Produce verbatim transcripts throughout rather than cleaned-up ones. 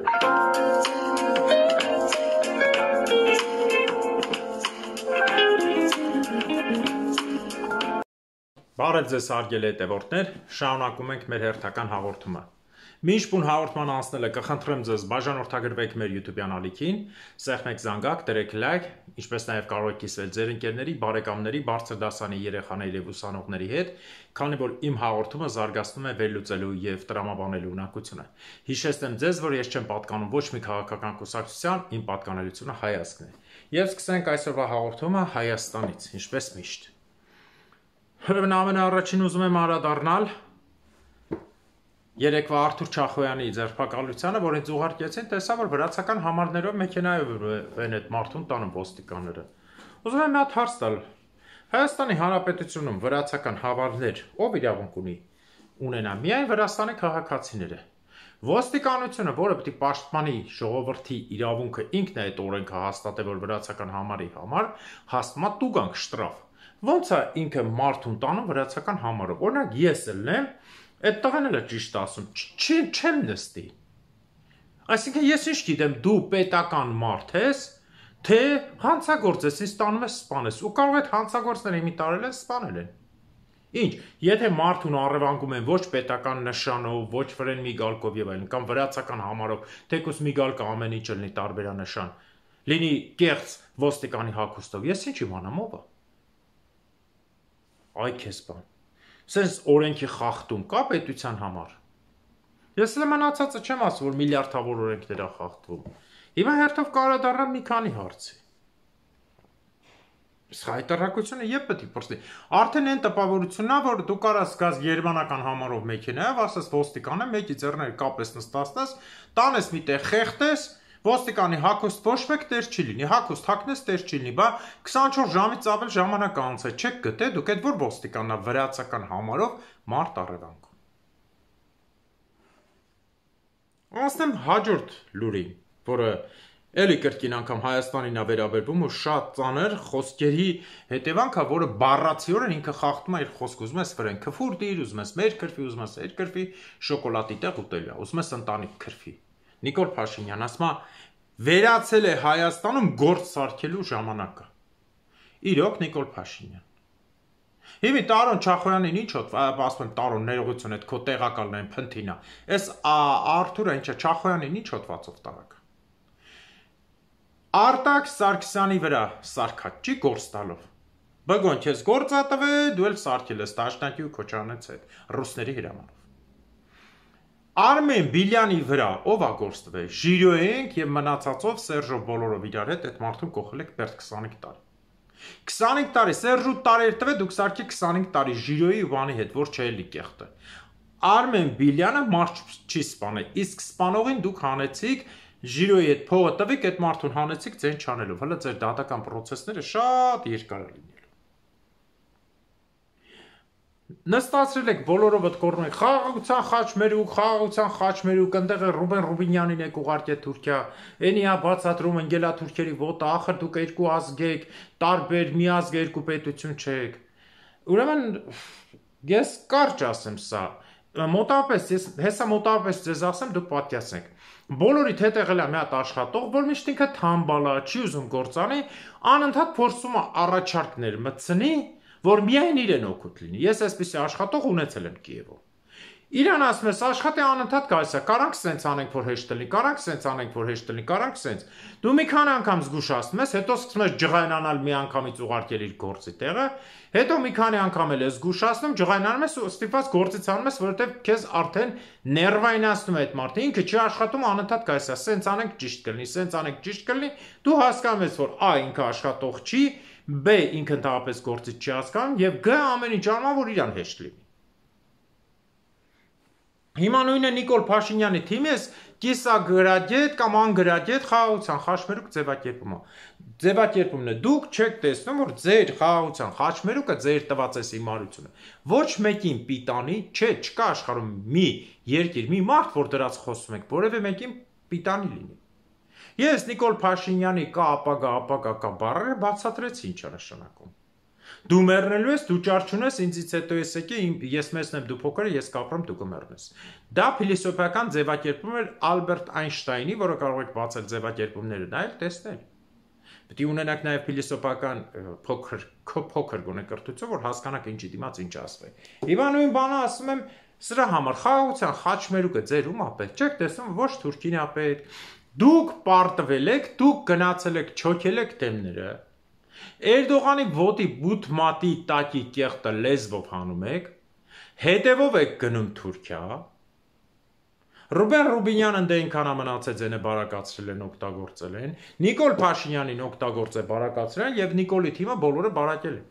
Բարև ձեզ հարգելի հետևորդներ, շարունակում ենք մեր հերթական հաղորդումը։ Մինչ բուն հաղորդման անցնելը կխնդրեմ ձեզ բաժանորդագրվեք մեր YouTube-յան ալիքին, սեղմեք զանգակ, դրեք լայք, ինչպես նաև կարող եք կիսվել ձեր ընկերների, բարեկամների, բարձր դասանի երեխաների և ուսանողների հետ, քանի որ իմ հաղորդումը զարգացնում է վերլուծելու և տրամաբանելու ունակությունը։ Հիշեցնեմ ձեզ, որ ես չեմ պատկանում ոչ մի քաղաքական կուսակցության, իմ պատկանելությունը հայացքն է։ Եվ սկսենք այսօրվա հաղորդումը Հայաստանից, ինչպես միշտ։ Ուրեմն ամենաառաջին ուզում եմ անդրադառնալ երեկվա Արթուր Չախոյանի ձերբակալությանը, որ ինձ ուղարկեցին, տեսա, որ վրացական համարներով մեքենայով են այդ մարդուն տանում ոստիկանները։ Ուզում եմ մի հատ հարց տալ։ Հայաստանի Հանրապետությունում վրացական համարներ ով իրավունք ունի ունենա, միայն Վրաստանի քաղաքացիները։ Ոստիկանությունը, որը պետք է պաշտպանի ժողովրդի իրավունքը, ինքն է այդ օրենքը հաստատել, որ վրացական համարի համար հաստատում է տուգանք շտրաֆ։ Ոնց է ինքը մարդուն տանում վրացական համարով։ Օրինակ ես ելնեմ, այդ տղան էլ է ճիշտ ասում, չեմ նստի։ Այսինքն ես ինչ գիտեմ, դու պետական մարդ ես, թե հանցագործ ես, ինձ տանում ես սպանես, ու կարող այդ հանցագործները մի տարել են սպանել են։ Ինչ, եթե մարդուն առևանգում են ոչ պետական նշանով, ոչ վրեն միգալկով եւ այլն, կամ վրացական համարով, թեկուզ միգալկը ամեն ինչ լինի տարբերանշան, լինի կեղծ ոստիկանի հագուստով, ես ինչ իմանամ ով է։ Այ քեզ բան, սենց օրենքի խախտում կա պետության համար։ Ես էլ մնացածը չեմ ասում, որ միլիարդավոր օրենքներ է խախտվում։ Հիմա հերթով կարադառնամ մի քանի հարցի։ Իսկ հայտարարությունը եւս պետք է փոխվի։ Արդեն այն տպավորությունն է, որ դու կարաս գաս գերմանական համարով մեքենայով, ասես ոստիկանը մեկի ձեռները կապես նստածնես, տանես մի տեղ խեղտես, ոստիկանի հագուստ ոչ մեկ տեր չի լինի, հագուստ հագնես տեր չի լինի, բա քսանչորս ժամից ավել ժամանակ անց է, չեք գտե, դուք այդ որ ոստիկանն է վրացական համարով մարդ առևանգում։ Անցնեմ հաջորդ լուրին, որը էլի կրկին անգամ Հայաստանին է վերաբերվում ու շատ ծանր խոսքերի հետևանք է, որը բառացիորեն ինքը խախտում է իր խոսքը, ուզում ես վրեն քֆուր դիր, ուզում ես մեր քրֆի, ուզում ես այդ քրֆի, շոկոլադի տեղ ուտելիա, ուզում ես ընտանիք քրֆի։ Նիկոլ Փաշինյան ասում է, վերացել է Հայաստանում գործ սարքելու ժամանակը։ Իրոք Նիկոլ Փաշինյան։ Հիմի Տարոն Չախոյանին ինչ հոտ, ասում եմ Տարոն ներողություն, այդ քո տեղակալն այն փնթինա։ Այս Արթուրը ինչա Չախոյանին ինչ հոտվածով տարակ։ Արտակ Սարգսյանի վրա սարքած չի գործ տալով։ Բգոն քեզ գործ ա տվել, դու էլ սարքել ես Դաշնակի ու Քոչարյանից հետ, ռուսների հրամանով։ Արմեն Բիլյանի վրա ով է գործ տվել, Ժիրոյենք եւ մնացածով Սերժով բոլորով իրար հետ այդ մարդուն կողել եք բերդ քսանհինգ տարի։ քսանհինգ տարի Սերժու տարեր տվել, դուք սարքի քսանհինգ տարի Ժիրոյի ու բանի հետ, որ չէ էլի կեղտը։ Արմեն Բիլյանը մարդ չի սպանել, իսկ սպանողին դուք հանեցիք Ժիրոյի հետ փողը տվեք, այդ մարդուն հանեցիք ձեն չանելով, հələ ձեր դատական process-ները շատ երկար է լինելու։ Նստացրել եք բոլորով այդ կորնում եք խաղաղության խաչմերուկ, խաղաղության խաչմերուկ, ընդեղ Ռուբեն Ռուբինյանին եք ուղարկել Թուրքիա, էնի է բացատրում ընկելա թուրքերի ոտը, ախր դուք երկու ազգ եք, տարբեր մի ազգ երկու պետություն չեք։ Ուրեմն ես կարճ ասեմ սա, մոտավորապես ես հեսա մոտավորապես ձեզ ասեմ, դուք պատկասեք։ Բոլորիդ հետ եղել է մի հատ աշխատող, որ միշտ ինքը թամբալա, չի ուզում գործանի, անընդհատ փորձում է առաջարկներ մտցնի, որ միայն իրեն օգուտ լինի։ Ես այսպիսի աշխատող ունեցել եմ Կիևում։ Իրան ասում ես աշխատի անընդհատ գալիս է, կարանք սենց անենք, որ հեշտ լինի, կարանք սենց անենք, որ հեշտ լինի, կարանք սենց։ Դու մի քանի անգամ զգուշացնում ես, հետո սկսում ես ջղայնանալ մի անգամից ուղարկել իր գործի տեղը, հետո մի քանի անգամ էլ ես զգուշացնում, ջղայնանում ես ու ստիպված գործից անում ես, որովհետև քեզ արդեն ներվայնացնում է այդ մարդը, ինքը չի աշխատում, անընդհատ գալիս է, սենց անենք ճիշտ կլինի, սենց անենք ճիշտ կլինի, դու հասկանում ես, որ A ինքը աշխատող չի, B ինքը ընդհանրապես գործից չի հասկանում եւ G ամեն ինչ անում, որ իրան հեշտ լինի։ Հիմա նույնը Նիկոլ Փաշինյանի թիմի ես կիսագրադիետ կամ անգրադիետ խաղաղության խաչմերուկ ձևակերպումը։ Ձևակերպումն է դուք չեք տեսնում, որ ձեր խաղաղության խաչմերուկը ձեր տված է հիմարությունը։ Ոչ մեկին պիտանի, չէ, չկա աշխարհում մի երկիր, մի մարդ, որ դրած խոսում եք, որևէ մեկին պիտանի լինի։ Ես Նիկոլ Փաշինյանի կա ապագա, ապագա կա բառերը բացատրեցի ինչ է նշանակում։ Դու մեռնելու ես, դու ճար չունես, ինձից հետո ես եկի, ես մեծն եմ, դու փոքր, ես կապրեմ, դու կմեռնես։ Դա փիլիսոփայական ձևակերպում էր Ալբերտ Այնշտայնի, որը կարող եք բացել ձևակերպումները նայել, տեսնել։ Պետք է ունենաք նաև փիլիսոփական փոքր փոքր գոնե կրթություն, որ հասկանաք ինչի դիմաց ինչ ասվի։ Հիմա նույն բանը ասում եմ սրա համար խաղաղության խաչմերուկը ձեր ում է պետք, չեք տեսնում, ոչ Թուրքին է պետք։ Դուք պարտվել եք, դուք գնացել եք, չոքել եք դեմները։ Էրդողանի ոտի բութ մատի տակի կեղտը լեզվով հանում եք, հետևով եք գնում Թուրքիա։ Ռուբեն Ռուբինյանն դե ինքան ամնացեց են է բարակացրել են, օգտագործել են, Նիկոլ Փաշինյանին օգտագործել բարակացրել են և Նիկոլի թիմը բոլորը բարակել են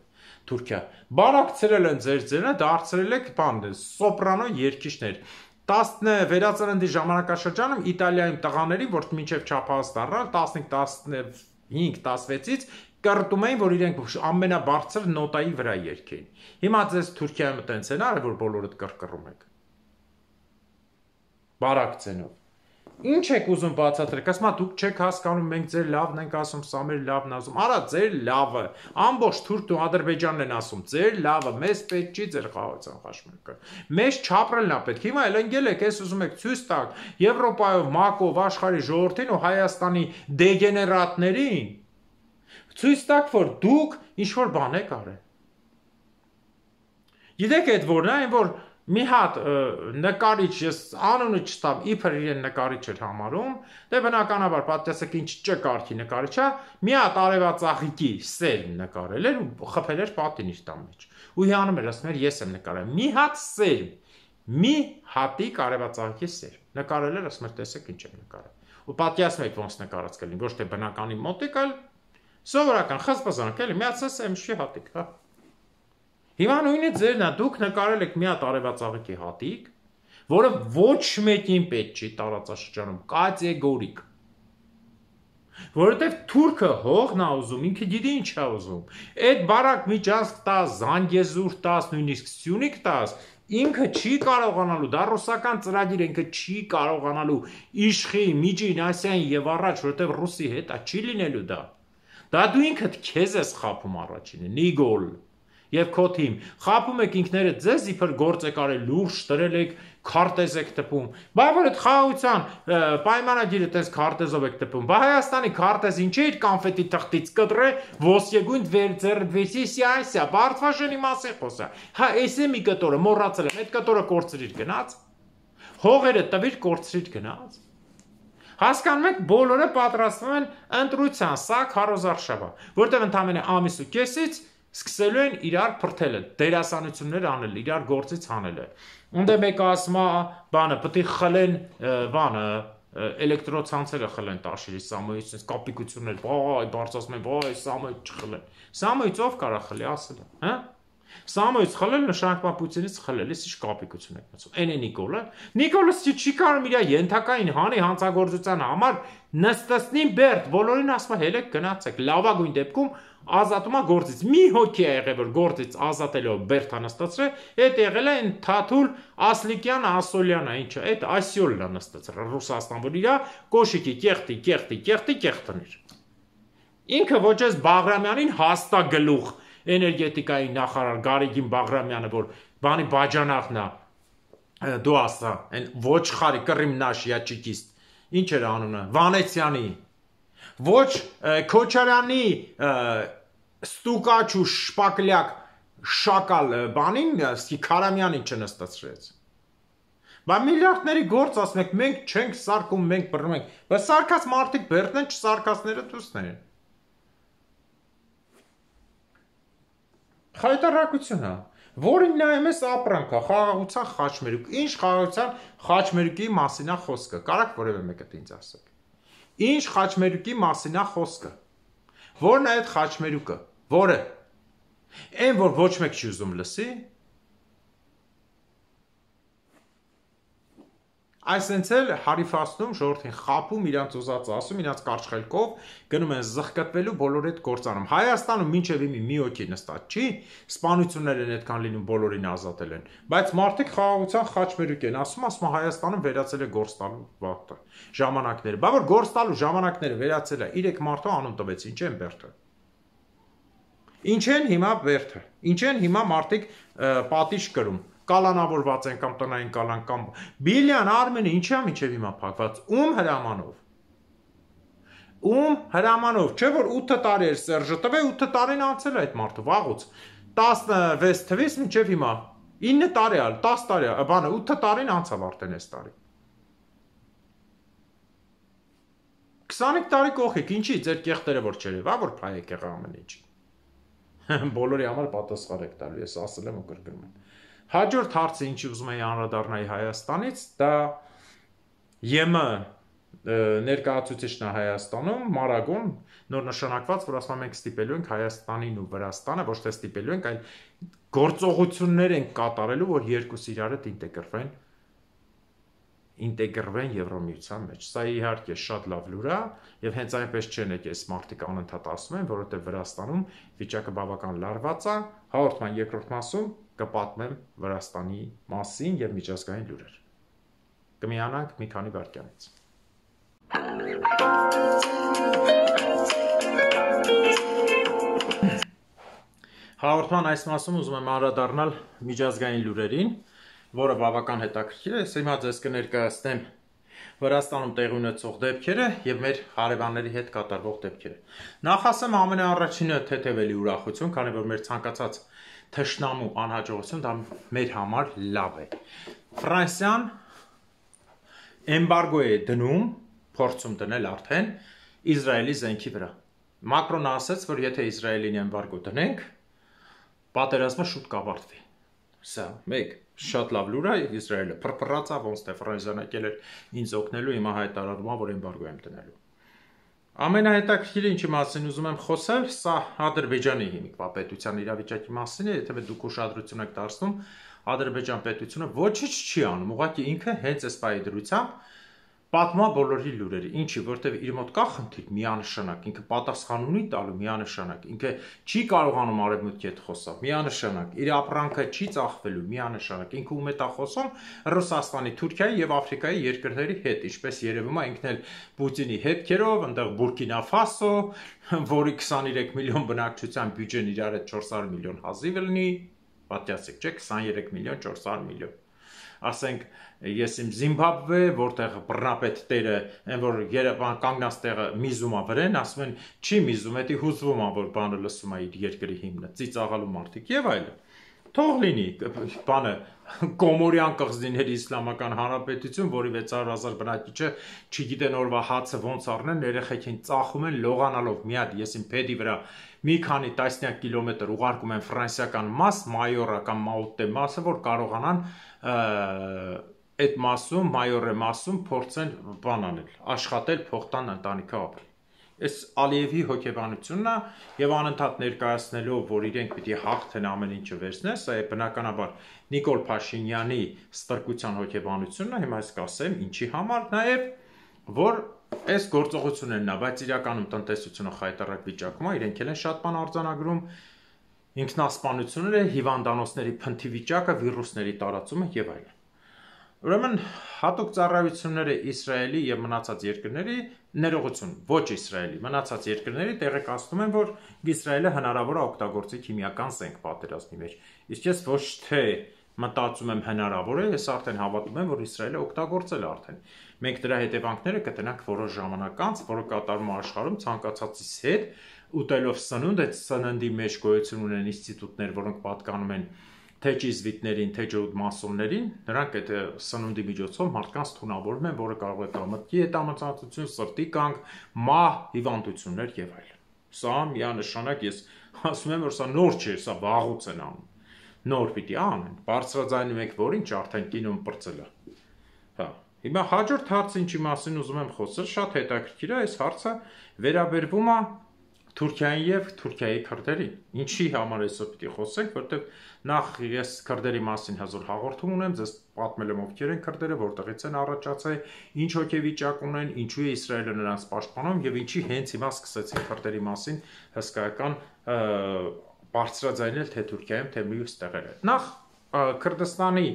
Թուրքիա։ Բարակցրել են ձեր ձերը, դարձրել եք բան, սոպրանո երգիչներ։ Վերածննդի ժամանակաշրջանում Իտալիայում տղաների, որ մինչև չափահաս դառնալ, տասնհինգ տասնհինգ տասնվեցից կռտում էին, որ իրենք ամենաբարձր նոտայի վրա երգեին։ Հիմա ձեզ Թուրքիայում տենց են արել, որ բոլորդ կռկռում եք։ Բարակցենով։ Ինչ եք ուզում բացատրեք, ասում ա դուք չեք հասկանում, մենք ձեր լավն ենք ասում, սա մեր լավն ասում, արա ձեր լավը, ամբողջ Թուրքն ու Ադրբեջանն են ասում, ձեր լավը, մեզ պետք չի ձեր խաղաղության խաչմերուկը։ Մեզ չապրելն է պետք։ Հիմա էլ ընկել եք, ես ուզում եք ցույց տալ Եվրոպայով, ՄԱԿ-ով, աշխարհի ժողովրդին ու Հայաստանի դեգեներատներին, ցույց տաք, որ դուք ինչ-որ բան եք արել։ Գիտեք այդ որն է, այն որ մի հատ նկարիչ, ես անունը չտամ, իբր իրեն նկարիչ էր համարում, դե բնականաբար պատկերացրեք ինչ ճկարքի նկարիչ է, մի հատ արևածաղիկի սերմ նկարել էր ու խփել էր պատին իր տան մեջ։ Ու հիանում էր, ասում էր ես եմ նկարել։ Մի հատ սերմ, մի հատիկ արևածաղիկի սերմ նկարել էր, ասում էր տեսեք ինչ եմ նկարել։ Ու պատկերացնում եք ոնց նկարած կլինի, ոչ թե բնականի մոտիկ, այլ սովորական խզբզանք էլի, միացած սերմշի հատիկ, հա։ Հիմա նույնը ձերն է, դուք նկարել եք մի հատ արևածաղիկի հատիկ, որը ոչ մեկին պետք չի տարածաշրջանում, կատեգորիկ։ Որովհետև թուրքը հողն է ուզում, ինքը գիտի ինչ է ուզում։ Այդ բարակ միջանցք տաս, Զանգեզուր տաս, նույնիսկ Սյունիք տաս, ինքը չի կարողանալու, դա ռուսական ծրագիր ինքը չի կարողանալու իշխի, Միջին Ասիային եւ առաջ, որովհետև ռուսի հետ է չի լինելու դա։ Դա դու ինքդ քեզ ես խափում առաջինը, Նիգոլ եւ քո թիմ, խափում եք ինքներդ ձեզ, իբր գործ եք արել, լուրջ դրել եք, քարտեզ եք տպում։ Բա որ այդ խաղաղության պայմանագիրը տես քարտեզով եք տպում։ Բա Հայաստանի քարտեզ ինչ է իր կոնֆետի թղթից կտրե, ոսկեգույն վերձերվեսիսիա, Բարդվաշենի մասի խոսա։ Հա, էս է մի կտորը, մոռացել եմ, այդ կտորը կորցրիր գնաց։ Հողերը տվիր, կորցրիր գնաց։ Հասկանում եք, բոլորը պատրաստվում են ընտրության, սա քարոզարշավա, որտեղ ընդամենը ամիս ու կեսից սկսելու են իրար փրթելը, դերասանություններ անել, իրար գործից հանելը։ Ունդե մեկը ասում է, բանը, պետք է խլեն, բանը, էլեկտրոցանցերը խլեն տաշիրի Սամոյից, կապիկություններ, վայ, բարձրացնում են, վայ, Սամոյից չխլեն։ Սամոյից ով կարա խլի, ասել է, հա։ Սամոյից խլել նշանակում Պուտինից խլել, ես ինչ կապիկություն եք մտածում։ Էն է Նիկոլը։ Նիկոլը չի կարող իր ենթակային հանի հանցագործության համար նստեցնին Բերդ, բոլորին ասում է հելեք գնացեք, լավագույն դեպքում ազատում է գործից։ Մի հոգի է եղել, որ գործից ազատելով Բերդ նստացրել, այդ եղել է այն Թաթուլ Ասլիկյան Ասոլյանը, ինչը, այդ Ասյոլն է նստացրել Ռուսաստան, որ իր կոշիկի կեղտի, կեղտի, կեղտի կեղտներ։ Ինքը ոչ էս Բաղրամյանին հաստագլուխ էներգետիկայի նախարար Գարեգին Բաղրամյանը, որ բանի բաժանախն է, դու ասա, այն ոչխարի կռիմ նաշ յաչիկիստ, ինչ էր անունը, Վանեցյանի, ոչ Քոչարյանի ստուկաչ ու շպակլյակ շակալ բանին, Քարամյանին չնստացրեց։ Բա միլիարդների գործ ասում եք, մենք չենք սարկում, մենք բռնում ենք, բայց սարկած մարդիկ Բերդն են, չսարկածները դուսն են։ Խայտարակություն է, որին նայում ես ապրանք է, խաղաղության խաչմերուկ, ինչ խաղաղության խաչմերուկի մասին է խոսքը, կարաք որևէ մեկը ինձ ասեք։ Ինչ խաչմերուկի մասին է խոսքը։ Որն է այդ խաչմերուկը, որը։ Այն, որ ոչ մեկ չի ուզում լսի։ Այսենց էլ հարիֆացնում, ժողովրդին խափում, իրանց ուզածը ասում, իրանց կարճ-խելքով գնում են զղկտվելու բոլոր այդ գործանում։ Հայաստանում մինչև իմի մի հոգի նստած չի, սպանություններ են այդքան լինում, բոլորին ազատել են, բայց մարդիկ խաղաղության խաչմերուկ են ասում, ասում Հայաստանում վերացել է գործ տալու վաղը, ժամանակները։ Բա որ գործ տալու ժամանակները վերացել է, իրեք մարդու անուն տվեց, ինչ են Բերդը։ Ինչ են հիմա բերդը, ինչ են հիմա մարդիկ պատիժ կրում, կալանավորված են կամ տնային կալան կամ Բիլյան Արմենը ինչի՞ է մինչև հիմա փակված, ում հրամանով, ում հրամանով, չէ որ ութ տարի էր Սերժը տվել, ութ տարին անցել է այդ մարդը, վաղուց, տասնվեց թվից մինչև հիմա, ինը տարի ալ, տաս տարի, բանը ութ տարին անցավ արդեն այս տարի, քսանուհինգ տարի կողիկ, ինչի ձեր կեղտերը որ չերևա, որ փայեք եղա ամեն ինչ, բոլորի համար պատասխան եք տալու, ես ասել եմ ու կրկնում եմ, հաջորդ հարցը ինչի ուզում էի անդրադառնալ Հայաստանից, դա ԵՄ ներկայացուցիչն է Հայաստանում, Մարագոն, նոր նշանակված, որ ասում ենք ստիպելու ենք Հայաստանին ու Վրաստանը, ոչ թե ստիպելու ենք, այլ գործողություններ ենք կատարելու, որ երկուսը իրար հետ ինտեգրվեն, ինտեգրվեն Եվրամիության մեջ։ Սա իհարկե շատ լավ լուր է, եւ հենց այնպես չեն եք այս մարդիկ անընդհատ ասում են, որովհետեւ Վրաստանում վիճակը բավական լարված է, հաղորդման երկրորդ մասում կպատմեմ Վրաստանի մասին եւ միջազգային լուրեր։ Կմիանանք մի քանի վայրկյանից։ Հաղորդման այս մասում ուզում եմ անդրադառնալ միջազգային լուրերին, որը բավական հետաքրքիր է, ես հիմա ձեզ կներկայացնեմ Վրաստանում տեղի ունեցող դեպքերը եւ մեր հարևանների հետ կատարվող դեպքերը։ Նախ ասեմ ամենաառաջինը թեթևելի ուրախություն, քանի որ մեր ցանկացած թշնամու անհաջողություն դա մեր համար լավ է։ Ֆրանսիան էմբարգո է դնում, փորձում դնել արդեն Իսրայելի զենքի վրա։ Մակրոնը ասաց, որ եթե Իսրայելին էմբարգո դնենք, պատերազմը շուտ կավարտվի։ Սա մեկ շատ լավ լուր է, Իսրայելը փրփրացա, ոնց թե Ֆրանսիան եկել էր ինձ օգնելու, հիմա հայտարարում է, որ էմբարգո եմ դնելու։ Ամենահետաքրքիրը ինչի մասին ուզում եմ խոսել, սա Ադրբեջանի հիմիկվա պետության իրավիճակի մասին է, եթե դուք ուշադրություն եք դարձնում, Ադրբեջան պետությունը ոչինչ չի անում, ուղղակի ինքը հենց այս պահի դրությամբ պատմա բոլորի լուրերը, ինչի, որտեվ իր մոտ կա խնդիր միանշանակ, ինքը պատասխան ունի տալու միանշանակ, ինքը չի կարողանում արևմուտքի հետ խոսալ, միանշանակ, իր ապրանքը չի ծախվելու, միանշանակ, ինքը ում հետ է խոսում Ռուսաստանի, Թուրքիայի եւ Աֆրիկայի երկրների հետ, ինչպես երևում է ինքն էլ Պուտինի հետքերով, այնտեղ Բուրկինա Ֆասո, որի քսաներեք միլիոն բնակչության բյուջեն իրար հետ չորս հարյուր միլիոն հազիվ լինի, պատյասեք չէ, քսաներեք միլիոն չորս հարյուր միլիոն ասենք ես իմ Զիմբաբվե, որտեղ բռնապետ տերը, այն որ Երևան կանգնած տեղը միզում է վրեն, ասում են չի միզում, էդի հուզվում է, որ բանը լսում է իր երկրի հիմնը, ծիծաղալու մարդիկ եւ այլն։ Թող լինի, բանը Կոմորյան կղզիների իսլամական հանրապետություն, որի վեց հարյուր հազար բնակիչը չգիտեն օրվա հացը ոնց առնեն, երեխեքին ծախում են լողանալով մի հատ, ես իմ փեդի վրա մի քանի տասնյակ կիլոմետր ուղարկում են ֆրանսիական մաս, Մայորա կամ Մաուտե մասը, որ կարողանան այդ մասում, Մայորե մասում փորձեն բան անել, աշխատել, փոխտան ընտանիքը ապրել։ Այս Ալիևի հոգեբանությունն է եւ անընդհատ ներկայացնելով, որ իրենք պիտի հաղթեն ամեն ինչը վերցնեն, սա է բնականաբար Նիկոլ Փաշինյանի ստրկության հոգեբանությունն է, հիմա ես կասեմ ինչի համար, նաեւ որ այս գործողություններն է, բայց իրականում տնտեսությունը խայտարակ վիճակում է, իրենք էլ են շատ բան արձանագրում, ինքնասպանությունները, հիվանդանոցների փնթի վիճակը, վիրուսների տարածումը եւ այլն։ Ուրեմն հատուկ ծառայությունները Իսրայելի եւ մնացած երկրների ներողություն, ոչ Իսրայելի, մնացած երկրների տեղեկացնում են, որ Իսրայելը հնարավոր է օգտագործի քիմիական զենք պատերազմի մեջ։ Իսկ ես ոչ թե մտածում եմ հնարավոր է, ես արդեն հավատում եմ, որ Իսրայելը օգտագործել է արդեն։ Մենք դրա հետևանքները կտնանք որոշ ժամանակ անց, որը կատարվում է աշխարհում ցանկացածից հետ, ուտելով սնունդ, այդ սննդի մեջ գոյություն ունեն ինստիտուտներ, որոնք պատկանում են թե ճիզվիտներին, թե ջրուդմասոններին, նրանք այդ սնունդի միջոցով մարդկանց թունավորում են, որը կարող է կամտքի հետամտածություն, սրտի կանգ, մահ, հիվանդություններ եւ այլն։ Սա միանշանակ ես ասում եմ, որ սա նոր չէ, սա վաղուց են անում։ Նոր պիտի անեն, բարձրաձայնում եք, որ ինչ արդեն կինոն պրծել է։ Հա, հիմա հաջորդ հարցը ինչի մասին ուզում եմ խոսել, շատ հետաքրքիր է, այս հարցը վերաբերվում է Թուրքիային եւ Թուրքիայի քրդերին։ Ինչի համար այսօր պիտի խոսենք, որտեղ նախ ես քրդերի մասին հազոր հաղորդում ունեմ, ձեզ պատմել եմ ովքեր են քրդերը, որտեղից են առաջացել, ինչ հոգեվիճակ ունեն, ինչու է Իսրայելը նրանց պաշտպանում եւ ինչի հենց հիմա սկսեցին քրդերի մասին հսկայական բարձրաձայնել թե Թուրքիայում, թե մյուս տեղերը։ Նախ Քրդստանի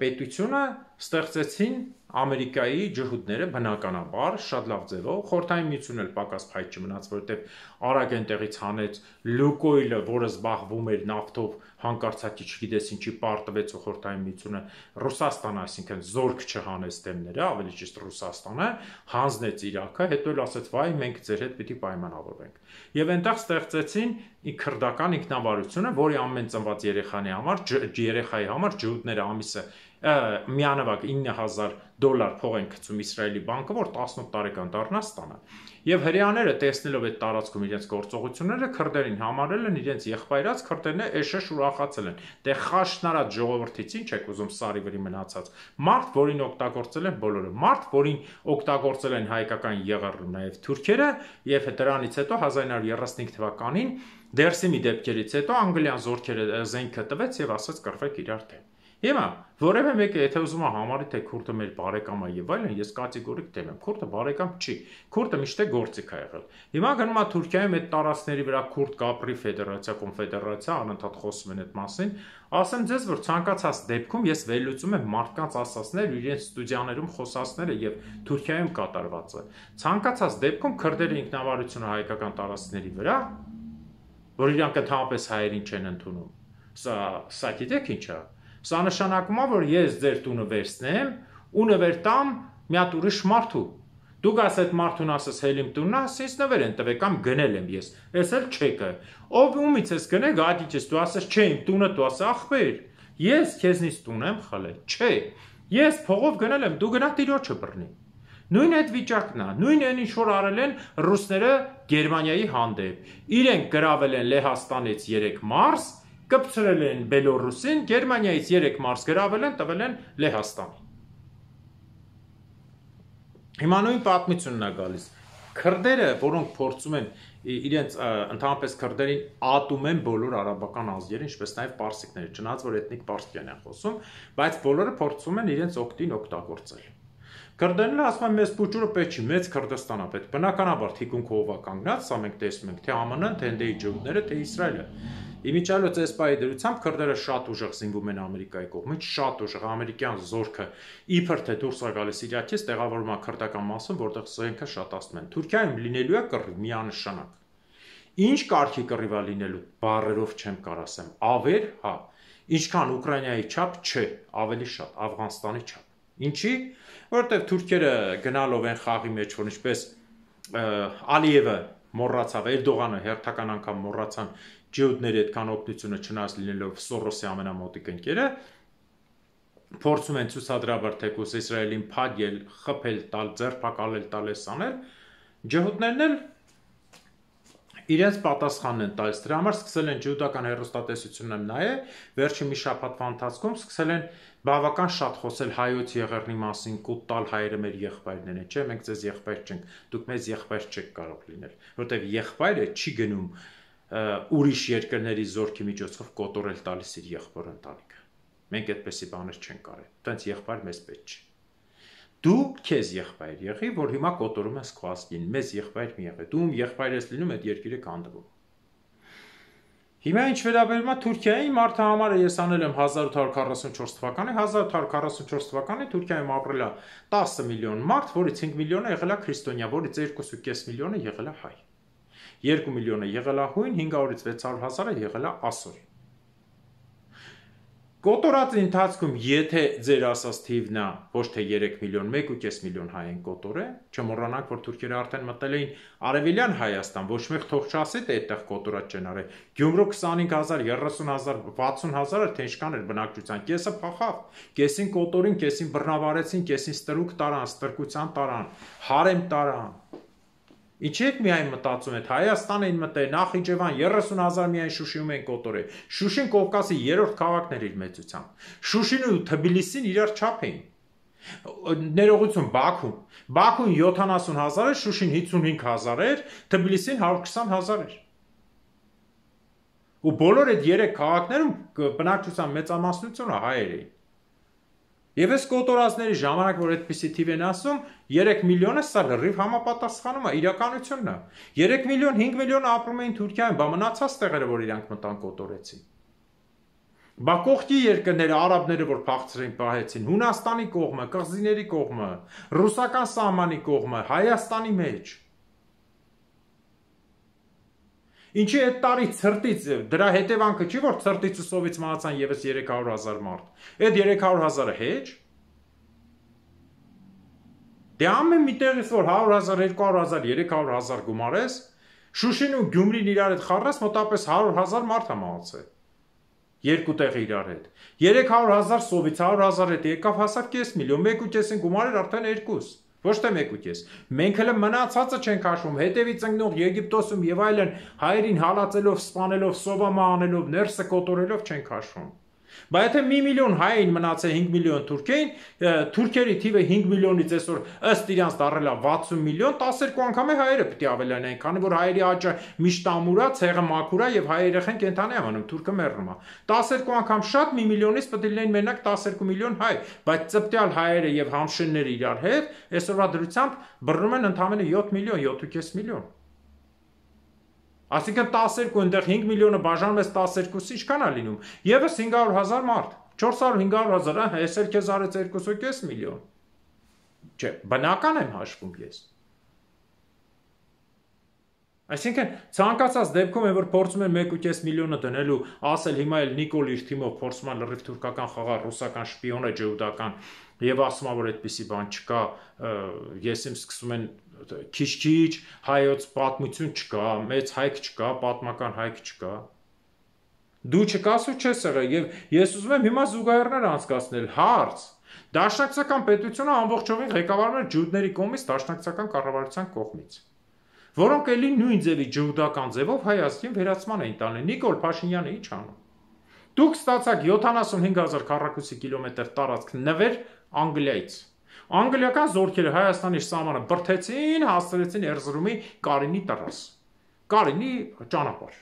պետությունը ստեղծեցին Ամերիկայի ջհուդները բնականաբար շատ լավ ձևով, Խորհրդային Միությունն էլ պակաս փայտ չմնաց, որովհետև արագ այնտեղից հանեց Լուկոյլը, որը զբաղվում էր նավթով, հանկարծակի չգիտես ինչի պարտվեց ու Խորհրդային Միությունը Ռուսաստանը, այսինքն զորք չհանեց դեմները, ավելի ճիշտ Ռուսաստանը, հանձնեց Իրաքը, հետո էլ ասեց՝ վայ, մենք ձեր հետ պիտի պայմանավորվենք։ Եվ այնտեղ ստեղծեցին քրդական ինքնավարությունը, որի ամեն ծնված երեխանի համար, երեխայի համար ջհուդները ամիսը միանավակ ինը հազար դոլար փող են գցում Իսրայելի բանկը, որ տասնութ տարեկան դառնա ստանա։ Եվ հրեաները տեսնելով այդ տարածքում իրենց գործողությունները, քրդերին համարել են իրենց եղբայրած, քրդերն էշեշ ուրախացել են։ Դե խաշնարած ժողովրդից ինչ եք ուզում սարի վրի մնացած։ Մարդ, որին օգտագործել են բոլորը, մարդ, որին օգտագործել են հայկական ԵՂՌ-ը, նաև թուրքերը, եւ դրանից հետո հազար ինը հարյուր երեսունհինգ թվականին Դերսիմի դեպքերից հետո անգլիան զորքերը զենքը տվեց եւ ասաց կռվեք իրար դեմ։ Հիմա որևէ մեկը եթե ուզում է համարի թե քուրդը մեր բարեկամ է եւ այլն, ես կատեգորիկ դեմ եմ։ Քուրդը բարեկամ չի։ Քուրդը միշտ է գործիք է եղել։ Հիմա գնում է Թուրքիայում այդ տարածքների վրա քուրդ կապրի ֆեդերացիա, կոնֆեդերացիա, անընդհատ խոսում են այդ մասին։ Ասեմ ձեզ, որ ցանկացած դեպքում ես վերլուծում եմ մարդկանց ասածները, իրենց ստուդիաներում խոսածները եւ Թուրքիայում կատարվածը։ Ցանկացած դեպքում քրդերի ինքնավարությունը հայկական տարածքների վրա, որ իրանք ընդհանրապես հայերին չեն ընդունում։ Սա, սա գիտեք ինչ է։ Սա նշանակում է, որ ես ձեր տունը վերցնեմ ու նվեր տամ մի հատ ուրիշ մարդու։ Դուք ասես այդ մարդուն ասես հելիմ տունն է, ասես նվեր են տվեք կամ գնել եմ ես։ Ես էլ չեկը։ Ով ումից ես գնել, գադիճես դու ասես չէ, իմ տունը դու ասես ախպեր։ Ես քեզնից տուն եմ խլել։ Չէ։ Ես փողով գնել եմ, դու գնա տիրոջը բռնի։ Նույն այդ վիճակն է, նույն այն ինչ որ արել են ռուսները Գերմանիայի հանդեպ։ Իրենք գրավել են Լեհաստանից երեք մարս, կպցրել են Բելոռուսին, Գերմանիայից երեք մարս գրավել են, տվել են Լեհաստանին։ Հիմա նույն պատմությունն է գալիս։ Քրդերը, որոնք փորձում են իրենց ընդհանրապես քրդերին ատում են բոլոր արաբական ազգերը, ինչպես նաև պարսիկները, չնայած որ էթնիկ պարսկյան են խոսում, բայց բոլորը փորձում են իրենց օգտին օգտագործել։ Քրդերն ասում են մեզ փուճուրը պետք չի, մեծ Քրդստան է պետք։ Բնականաբար թիկունքը ով է կանգնած, սա մենք տեսնում ենք, թե ԱՄՆ-ն, թե Հնդեի ջհուդները, թե Իսրայելը։ Իմիջիալոց էսպայի դրությամբ քրդերը շատ ուժեղ զինվում են Ամերիկայի կողմից, շատ ուժեղ ամերիկյան զորքը իբր թե դուրս է գալիս Իրաքից, տեղավորվում է քրդական մասում, որտեղ զենքը շատացնում են։ Թուրքիայում լինելու է կռիվ միանշանակ։ Ինչ կարգի կռիվ է լինելու, բառերով չեմ կարող ասեմ։ Ավեր, հա։ Ինչքան Ուկրաինայի չափ, չէ, ավելի շատ, Աֆղանստանի չափ։ Ինչի՞, որովհետև թուրքերը գնալով են խաղի մեջ, որ ինչպես Ալիևը մոռացավ, Էրդողանը հերթական անգամ մոռացան ջհուդների այդքան օգնությունը չնայած լինելով Սորոսի ամենամոտիկ ընկերը, փորձում են ցուցադրաբար թեկուզ Իսրայելին փակել, խփել, տալ, ձերբակալել, տալ էս անել, ջհուդներն էլ իրենց պատասխանն են տալիս։ Դրա համար սկսել են ջհուդական հեռուստատեսությունն նայել, վերջին մի շաբաթվա ընթացքում սկսել են բավական շատ խոսել հայոց եղեռնի մասին, կուտ տալ հայերը մեր եղբայրներն են, չէ, մենք ձեզ եղբայր չենք, դուք մեզ եղբայր չեք կարող լինել, որովհետև եղբայրը չի գնում ուրիշ երկրների զորքի միջոցով կոտորել տալիս իր եղբոր ընտանիքը։ Մենք այդպեսի բաներ չենք արել։ Տենց եղբայր մեզ պետք չի։ Դու քեզ եղբայր եղի, որ հիմա կոտորում ես քո ազգին, մեզ եղբայր մի եղի։ Դու եղբայր ես լինում, այդ երկիրը կանդվում։ Հիմա ինչ վերաբերում է Թուրքիային, մարդը համարը ես անել եմ հազար ութ հարյուր քառասունչորս թվականի, հազար ութ հարյուր քառասունչորս թվականի Թուրքիայում ապրել է տասը միլիոն մարդ, որից հինգ միլիոնը եղել է քրիստոնյա, որից երկու կես միլիոնը եղել է հայ։ երկու միլիոնը եղել է հույն, հինգ հարյուրից վեց հարյուր հազարը եղել է ասոր։ Կոտորած ընթացքում, եթե ձեր ասած թիվն է ոչ թե երեք միլիոն, մեկ ու կես միլիոն հայ են կոտորել, չմոռանանք, որ թուրքերը արդեն մտել էին Արևելյան Հայաստան, ոչ մեկ թող չասի, թե այդտեղ կոտորած չեն արել։ Գյումրու քսանհինգ հազար, երեսուն հազար, վաթսուն հազար թե ինչքան էր բնակչության, կեսը փախավ, կեսին կոտորին, կեսին բռնաբարեցին, կեսին ստրուկ տարան, ստրկության տարան, հարեմ տարան։ Ինչի՞ եք միայն մտածում եք, Հայաստան էին մտել, Նախիջևան երեսուն հազար միայն Շուշիում են կոտորել։ Շուշին Կովկասի երրորդ քաղաքն էր իր մեծությամբ։ Շուշին ու Թբիլիսին իրար չափ էին։ Ներողություն Բաքուն։ Բաքուն յոթանասուն հազար էր, Շուշին հիսունհինգ հազար էր, Թբիլիսին հարյուր քսան հազար էր։ Ու բոլոր այդ երեք քաղաքներում բնակչության մեծամասնությունը հայեր էին։ Եվ այս կոտորածների ժամանակ, որ այդպիսի թիվ են ասում, երեք միլիոնը սա լրիվ համապատասխանում է իրականությունն է։ երեք միլիոն, հինգ միլիոն ապրում էին Թուրքիայում, բա մնացած տեղերը, որ իրանք մտան կոտորեցին։ Բա կողքի երկրները, արաբները, որ փախցրին պահեցին, Հունաստանի կողմը, կղզիների կողմը, ռուսական սահմանի կողմը, Հայաստանի մեջ։ Ինչի այդ տարի ցրտից, դրա հետևանքը չի, որ ցրտից ու սովից մահացան եւս երեք հարյուր հազար մարդ։ Այդ երեք հարյուր հազարը հեչ։ Դե ամեն մի տեղից որ հարյուր հազար, երկու հարյուր հազար, երեք հարյուր հազար գումարես, Շուշին ու Գյումրին իրար հետ խառնես, մոտավորապես հարյուր հազար մարդ է մահացել։ Երկու տեղը իրար հետ։ երեք հարյուր հազար սովից հարյուր հազար հետ եկավ հասավ կես միլիոն, մեկ ու կեսին գումարեր արդեն երկուս, ոչ թե մեկ ու կես։ Մենք հələ մնացածը չենք հաշվում, հետևից ընկնող Եգիպտոսում եւ այլն հայերին հալածելով, սպանելով, սովամա անելով, ներսը կոտորելով չենք հաշվում։ Բա եթե մի միլիոն հային մնացե հինգ միլիոն թուրքեին, թուրքերի թիվը հինգ միլիոնից այսօր ըստ իրանց դառել է վաթսուն միլիոն, տասներկու անգամ է հայերը պիտի ավելանային, քանի որ հայերի աճը միշտ ամուր է, ցեղը մաքուր է եւ հայ երեխեն կենթանի է մնում, թուրքը մեռնում է։ տասներկու անգամ շատ մի միլիոնից պետք է լինեն մենակ տասներկու միլիոն հայ, բայց ծպտյալ հայերը եւ համշենները իրար հետ այսօրվա դրությամբ բռնում են ընդամենը յոթ միլիոն, յոթ ու կես միլիոն։ Այսինքն տասներկու այնտեղ հինգ միլիոնը բաժանում ես տասներկուսի ինչքան է լինում։ Եվս հինգ հարյուր հազար մարդ, չորս հարյուր հինգ հարյուր հազար, այս էլ քեզ արեց երկու ու կես միլիոն։ Չէ, բնական եմ հաշվում ես։ Այսինքն ցանկացած դեպքում է որ փորձում են մեկ ու կես միլիոնը դնելու, ասել հիմա էլ Նիկոլ իր թիմով փորձում է լրիվ թուրքական խաղալ, ռուսական շպիոն է ջհուդական եւ ասում է որ այդպիսի բան չկա, ես իմ սկսում են քիչ-քիչ հայոց պատմություն չկա, մեծ հայք չկա, պատմական հայք չկա։ Դու չկաս ու չես եղել եւ ես ուզում եմ հիմա զուգահեռներ անցկացնել հարց։ Դաշնակցական պետությունը ամբողջովին ղեկավարվում է ջհուդների կողմից, դաշնակցական կառավարության կողմից, որոնք էլի նույն ձևի ջհուդական ձևով հայ ազգին վերացման էին տանել։ Նիկոլ Փաշինյանը ի՞նչ անում։ Դուք ստացաք յոթանասունհինգ հազար քառակուսի կիլոմետր տարածք նվեր Անգլիայից։ Անգլիական զորքերը Հայաստանի սահմանը բրթեցին, հասցրեցին Էրզրումի Կարինի տրաս։ Կարինի ճանապարհ։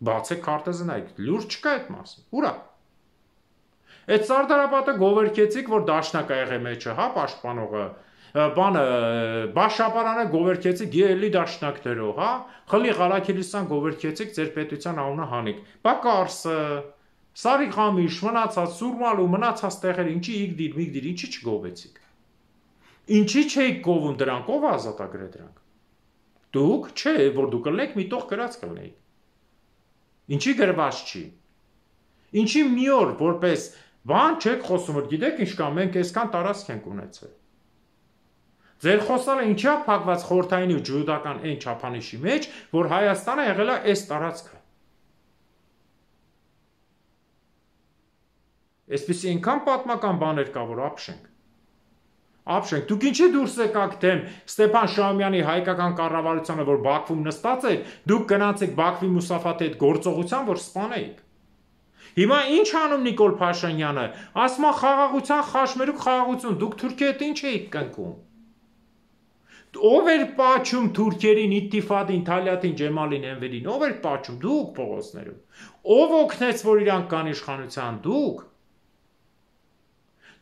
Բացեք քարտեզը նայեք, լուրջ չկա այդ մասին։ Ուրա։ Այդ Սարդարապետը գովերքեցիք, որ դաշնակ ա եղե մեջը, հա, պաշտպանողը, բանը Բաշապարանը գովերքեցիք ելի դաշնակներով, հա, խլի Ղարաքիլիսան գովերքեցիք ձեր պետության անունը հանիք։ Բա Կարսը, Սարիղամիշ, մնացած Սուրմալու, մնացած տեղերը, ինչի Իգդիր, Միգդիր, ինչի չգովեցիք։ Ինչի չէիք գովում դրանք, ով ազատագրե դրանք։ Դուք, չէ, որ դուք կլնեք մի տող գրած կլնեիք։ Ինչի գրված չի։ Ինչի մի օր որպես բան չեք խոսում, որ գիտեք ինչ կա, մենք այսքան տարածք ենք ունեցել։ Ձեր խոսալը ինչի է փակված խորհրդային ու ջհուդական այն չափանիշի մեջ, որ Հայաստանը եղել է այս տարածքը։ Այսպիսի այնքան պատմական բաներ կա, որ ապշենք։ Ապշենք, դուք ինչի դուրս եկաք դեմ Ստեփան Շահումյանի հայկական կառավարությանը, որ Բաքվում նստած էր, դուք գնացեք Բաքվի Մուսաֆաթի հետ գործողության, որ սպանեիք։ Հիմա ինչ անում Նիկոլ Փաշինյանը, ասում է խաղաղության խաշմերուկ խաղաղություն, դուք Թուրքիայի հետ ինչ էիք կնքում։ Ով էր պաչում թուրքերին, Իթիֆադին, Թալյատին, Ջեմալին, Էնվերին, ով էր պաչում, դուք փողոցներում։ Ով օգնեց, որ իրանք կան իշխանության, դուք։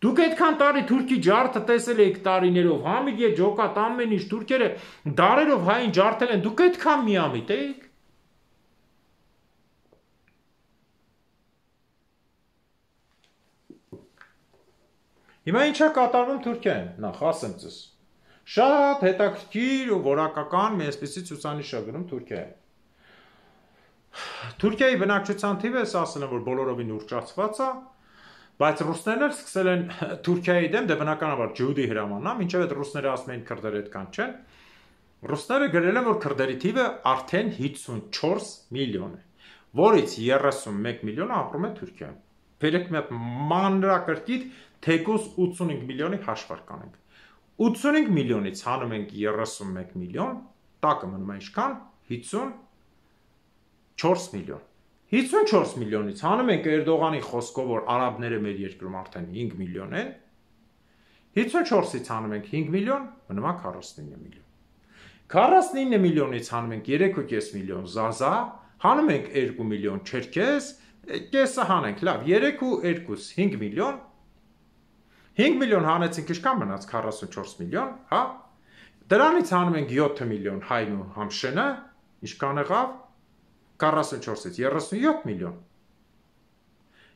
Դուք այդքան տարի թուրքի ջարդը տեսել եք տարիներով, Համիգե, Ջոկատ, ամեն ինչ թուրքերը դարերով հային ջարդել են, դուք այդքան միամիտ եք։ Հիմա ինչա կատարվում Թուրքիայում, նախ ասեմ ձեզ։ Շատ հետաքրքիր ու որակական մի այսպիսի ցուցանիշ է գրում Թուրքիայում։ Թուրքիայի բնակչության թիվը ես ասել եմ, որ բոլորովին ուռճացված է, բայց ռուսներն էլ սկսել են Թուրքիայի դեմ, դե բնականաբար ջհուդի հրամանն է, մինչև այդ ռուսները ասում են քրդերը այդքան չեն։ Ռուսները գրել են, որ քրդերի թիվը արդեն հիսունչորս միլիոն է, որից երեսունմեկ միլիոնը ապրում է Թուրքիայում։ Վերեք մի հատ մանրակրկիտ թեկուզ ութսունհինգ միլիոնի հաշվարկ կանենք։ ութսունհինգ միլիոնից հանում ենք երեսունմեկ միլիոն, տակը մնում է ինչքան, հիսունչորս միլիոն։ հիսունչորս միլիոնից հանում ենք Էրդողանի խոսքով, որ արաբները մեր երկրում արդեն հինգ միլիոն են, հիսունչորսից հանում ենք հինգ միլիոն, մնում է քառասունինը միլիոն։ քառասունինը միլիոնից հանում ենք երեք ու կես միլիոն Զազա, հանում ենք երկու միլիոն Չերքեզ, կեսը հանենք, լավ, երեք ու երկուս հինգ միլիոն, հինգ միլիոն հանեցինք, ինչքան մնաց քառասունչորս միլիոն, հա։ Դրանից հանում ենք յոթ միլիոն Հայն ու Համշենը, ինչքան եղավ, քառասունչորսից երեսունյոթ միլիոն։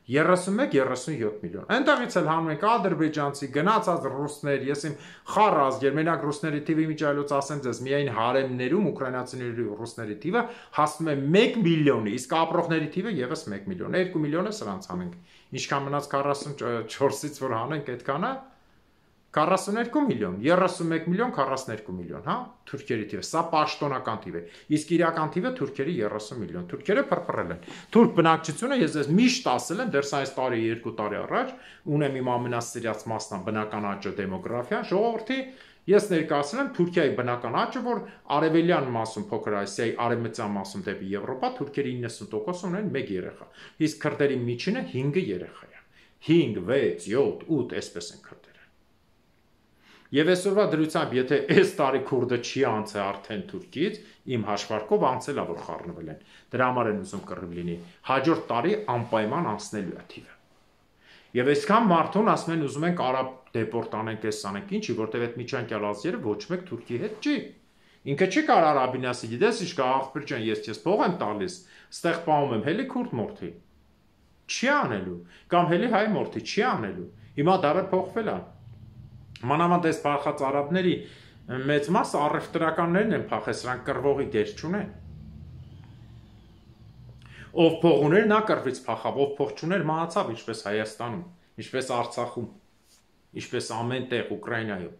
երեսունմեկ երեսունյոթ միլիոն։ Այնտեղից էլ հանում ենք ադրբեջանցի, գնացած ռուսներ, ես իմ խառ ազգեր, մենակ ռուսների թիվը իմիջայլոց ասեմ ձեզ, միայն հարեմներում ուկրաինացիների ռուսների թիվը հասնում է մեկ միլիոնի, իսկ ապրողների թիվը եւս մեկ միլիոն, երկու միլիոնը սրանց հանենք։ Ինչքան մնաց քառասունչորսից որ հանենք այդքանը, քառասուներկու միլիոն, երեսունմեկ միլիոն, քառասուներկու միլիոն, հա, թուրքերի թիվը, սա պաշտոնական թիվ է, իսկ իրական թիվը թուրքերի երեսուն միլիոն, թուրքերը փրփրել են, թուրք բնակչությունը ես ես միշտ ասել եմ, դեռ սա այս տարի, երկու տարի առաջ, ունեմ իմ ամենասիրած մասնա բնական աճը դեմոգրաֆիան, ժողովրդի, ես ներկայացրել եմ Թուրքիայի բնական աճը, որ արևելյան մասում փոքր Ասիայի արևմտյան մասում դեպի Եվրոպա, թուրքերի իննսուն տոկոս ունեն մեկ երեխա, իսկ քրդերի միջինը հինգ երեխա է, հինգ, վեց, յոթ, ութ, այսպես են քրդերը։ Եվ այսօրվա դրությամբ, եթե այս տարի քուրդը չի անցել արդեն Թուրքից, իմ հաշվարկով անցել է, որ խառնվել են։ Դրա համար են ուզում կռիվ լինի։ Հաջորդ տարի անպայման անցնելու է թիվը։ Եվ այսքան մարդուն ասում են ուզում ենք արաբ դեպորտ անենք, էս անենք, ինչի, որտեվ այդ միջանկյալ ազգերը ոչ մեկ Թուրքի հետ չի։ Ինքը չի կարող արաբին ասի, գիտես ինչ կա, աղբյուր ջան, ես քեզ փող եմ տալիս, ստեղ պահում եմ, հելի քուրդ մորթի։ Չի անելու, կամ հելի հայ մորթի, չի անելու։ Հիմա դարը փոխվել է։ Մանավանդ այս փախած արաբների մեծ մասը առևտրականներն են փախել, սրանք կռվողի դեր չունեն։ Ով փող ուներ, նա կռվից փախավ, ով փող չուներ, մահացավ, ինչպես Հայաստանում, ինչպես Արցախում, ինչպես ամեն տեղ Ուկրաինայում։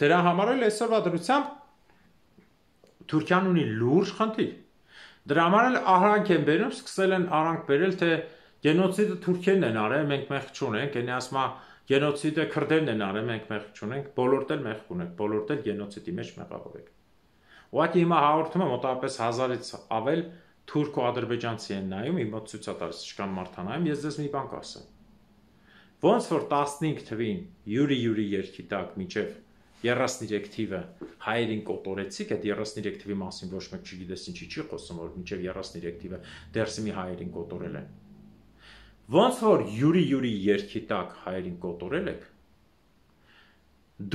Դրա համար էլ այսօրվա դրությամբ Թուրքիան ունի լուրջ խնդիր։ Դրա համար էլ արանք են բերում, սկսել են արանք բերել, թե գենոցիդը թուրքերն են արել, մենք մեղք չունենք, այնի ասма գենոցիդը քրդերն են արել, մենք մեղք չունենք, բոլորդ էլ մեղք ունենք, բոլորդ էլ գենոցիդի մեջ մեղավոր եք։ Ուղղակի հիմա հաղորդումը մոտավորապես հազարից ավել թուրք ու ադրբեջանցի են նայում, իմ մոտ ցույց տալիս ինչքան մարդ նայում, ես ձեզ մի բան կասեմ։ Ոնց որ տասնհինգ թվին յուրի յուրի երկի տակ մինչև երեսուններեք թիվը հայերին կոտորեցիք, այդ երեսուններեք թվի մասին ոչ մեկ չգիտես ինչի չի խոսում, որ մինչև երեսուններեք թիվը դերսիմի հայերին կոտորել են։ Ոնց որ յուրի յուրի երկի տակ հայերին կոտորել եք,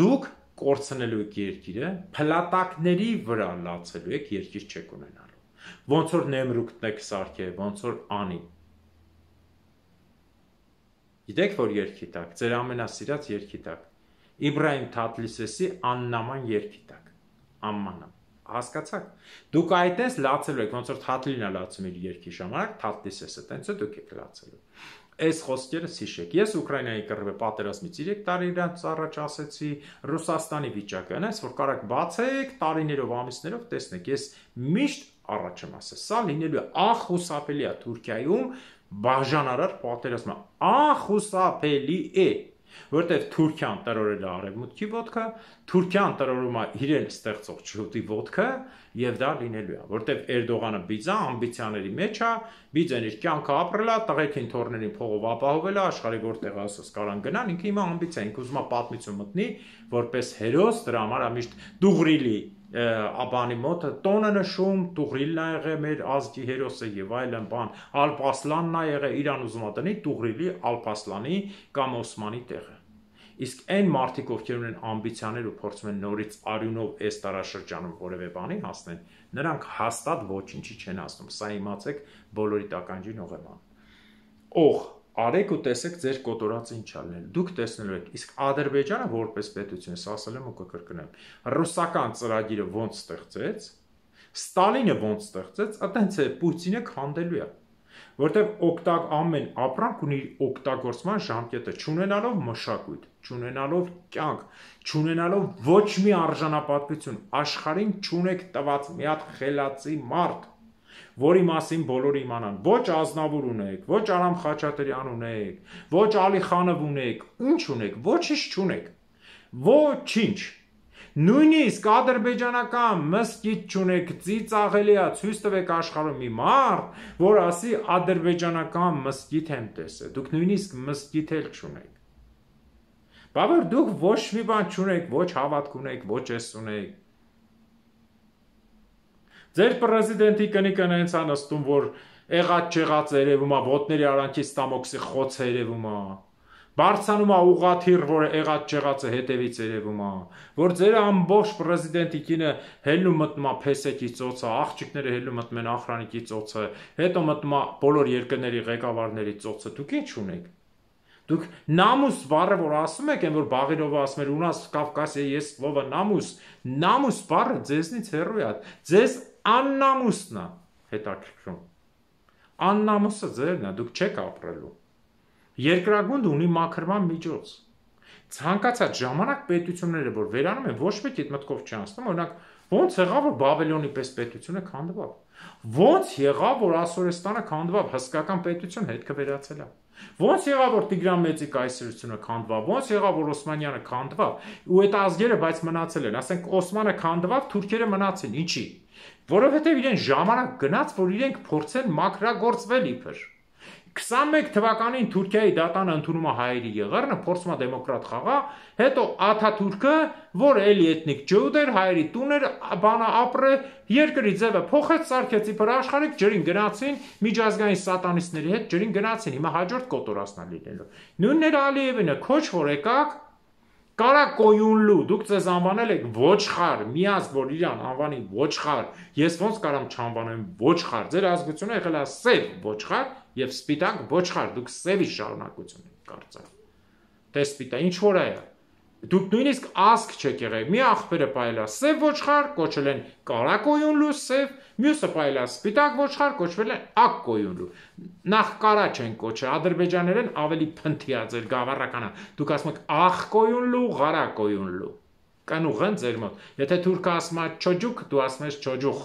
դուք կորցնելու եք երկիրը, փլատակների վրա լացելու եք, երկիր չեք ունենալու։ Ոնց որ Նեմրուկն եք սարքել, ոնց որ անի։ Գիտեք որ երկի տակ, ձեր ամենասիրած երկի տակ, Իբրահիմ Թաթլիսեսի աննաման երկի տակ, ամմանամ, հասկացաք, դուք այդպես լացելու եք, ոնց որ Թաթլին է լացում իր երկի ժամանակ, Թաթլիսեսը, տենց է դուք եք լացելու։ Այս խոսքերը հիշեք, ես Ուկրաինայի կռվի պատերազմից երեք տարի իրանց առաջ ասեցի, Ռուսաստանի վիճակը, այնպես որ կարաք բացեք տարիներով, ամիսներով տեսնեք, ես միշտ առաջ եմ ասել, սա լինելու է անխուսափելի է Թուրքիայում բաժանարար պատերազմը, անխուսափելի է, որտեղ Թուրքիան տրորել է արևմուտքի ոտքը, Թուրքիան տրորում է իրեն ստեղծող ջհուդի ոտքը եւ դա լինելու է, որտեղ Էրդողանը բիձա ամբիցիաների մեջ է, բիձեն իր կյանքը ապրել է, տղեկին թորներին փողով ապահովել է, աշխարհի որտեղ ասես կարան գնան, ինքը հիմա ամբիցիա, ինքը ուզում է պատմություն մտնի, որպես հերոս, դրա համար է միշտ Դուղրիլի աբանի մոտ տոնը նշում, Տուղրիլն է եղել մեր ազգի հերոսը եւ այլն բան, Ալպասլանն է եղել, իրան ուզում է տնի Տուղրիլի, Ալպասլանի կամ Օսմանի տեղը։ Իսկ այն մարդիկ, ովքեր ունեն ամբիցիաներ ու փորձում են նորից արյունով այս տարաշրջանում որևէ բանի հասնեն, նրանք հաստատ ոչինչի չեն հասնում։ Սա իմացեք բոլորի տականջին ողեման։ Օղ արեք ու տեսեք ձեր կոտորածը ինչ ա լինել։ Դուք տեսնելու եք, իսկ Ադրբեջանը որպես պետություն, ես ասել եմ ու կկրկնեմ, ռուսական ծրագիրը ոնց ստեղծեց, Ստալինը ոնց ստեղծեց, այտենց է Պուտինը քանդելու է, որտեղ օգտակ ամեն ապրանք ունի օգտագործման ժամկետը, չունենալով մշակույթ, չունենալով կյանք, չունենալով ոչ մի արժանապատվություն, աշխարհին չունեք տված մի հատ խելացի մարդ, որի մասին բոլորը իմանան, ոչ Ազնավուր ունեք, ոչ Արամ Խաչատրյան ունեք, ոչ Ալիխանով ունեք, ինչ ունեք, ոչինչ չունեք, ոչինչ, նույնիսկ ադրբեջանական մսկիթ չունեք, ծիծաղելի է, ցույց տվեք աշխարհում մի մարդ, որ ասի ադրբեջանական մսկիթ եմ տեսել, դուք նույնիսկ մսկիթ էլ չունեք, բա որ դուք ոչ մի բան չունեք, ոչ հավատք ունեք, ոչ էս ունեք, ձեր պրեզիդենտի կնիկն հենց է նստում, որ եղած չեղած երևում է, ոտների արանքից տամոքսի խոց երևում է, Բարձանում է ուղաթիռ, որը եղած չեղածը հետևից երևում է, որ ձեր ամբողջ պրեզիդենտի կինը հելնում մտնում է փեսեկի ծոցը, աղջիկները հելնում մտնում են ախրանիկի ծոցը, հետո մտնում է բոլոր երկրների ղեկավարների ծոցը, դուք ինչ ունեք։ Դուք նամուս բառը, որ ասում եք, այն որ Բաղիրովը ասում էր, ունաս Կովկասիա есть слово նամուս, նամուս բառը ձեզնից հեռու է, ձեզ աննամուսն է հետաքրքրում։ Աննամուսը ձերն է, դուք չեք ապրելու։ Երկրագունդը ունի մաքրման միջոց։ Ցանկացած ժամանակ պետությունները, որ վերանում են, ոչ մեկ այդ մտքով չանցնում, օրինակ, ո՞նց եղավ, որ Բաբելոնի պես պետությունը քանդվավ։ Ո՞նց եղավ, որ Ասորեստանը քանդվավ, հսկական պետություն հետքը վերացել է։ Ո՞նց եղավ, որ Տիգրան Մեծի կայսրությունը քանդվավ, ո՞նց եղավ, որ Օսմանյանը քանդվավ, ու այդ ազգերը բայց մնացել են, ասենք Օսմանը քանդվավ, թուրքերը մնացին, ինչի։ Որովհետև իրեն ժամանակ գնաց, որ իրենք փորձեն մաքրագործվել իբր։ քսանմեկ թվականին Թուրքիայի դատանը ընդունում է հայերի եղեռնը, փորձում է դեմոկրատ խաղա, հետո Աթաթուրքը, որ էլի էթնիկ ջուդ էր, հայերի տուն էր, բանը ապրե, երկրի ձևը փոխեց, սարքեց իբր աշխարհիկ, ջրին գնացին, միջազգային սատանիստների հետ ջրին գնացին, հիմա հաջորդ կոտորածնա լինելու։ Նույնն էր Ալիևինը, քոչ որ եկաք, Կարա կոյունլու, դուք ձեզ անվանել եք ոչխար, միազգ որ իրան անվանի ոչխար, ես ոնց կարամ չանվանեմ ոչխար, ձեր ազգությունը եղել է սև ոչխար եւ սպիտակ ոչխար, դուք սևի շարունակություն եք կարծել։ Թե սպիտակ, ինչ որ է։ Դուք նույնիսկ ազգ չեք եղել, մի աղբերը պայել է սև ոչխար, կոչել են կարա կոյունլու սև, մյուսը պայել է սպիտակ ոչխար, կոչվել են ակ կոյունլու։ Նախ կարա չեն կոչել, ադրբեջաներեն ավելի փնթիա ձեր գավառականը։ Դուք ասում եք աղ կոյունլու, ղարա կոյունլու։ Կանուղն ձեր մոտ։ Եթե թուրքը ասում է չոջուկ, դու ասում ես չոջուխ։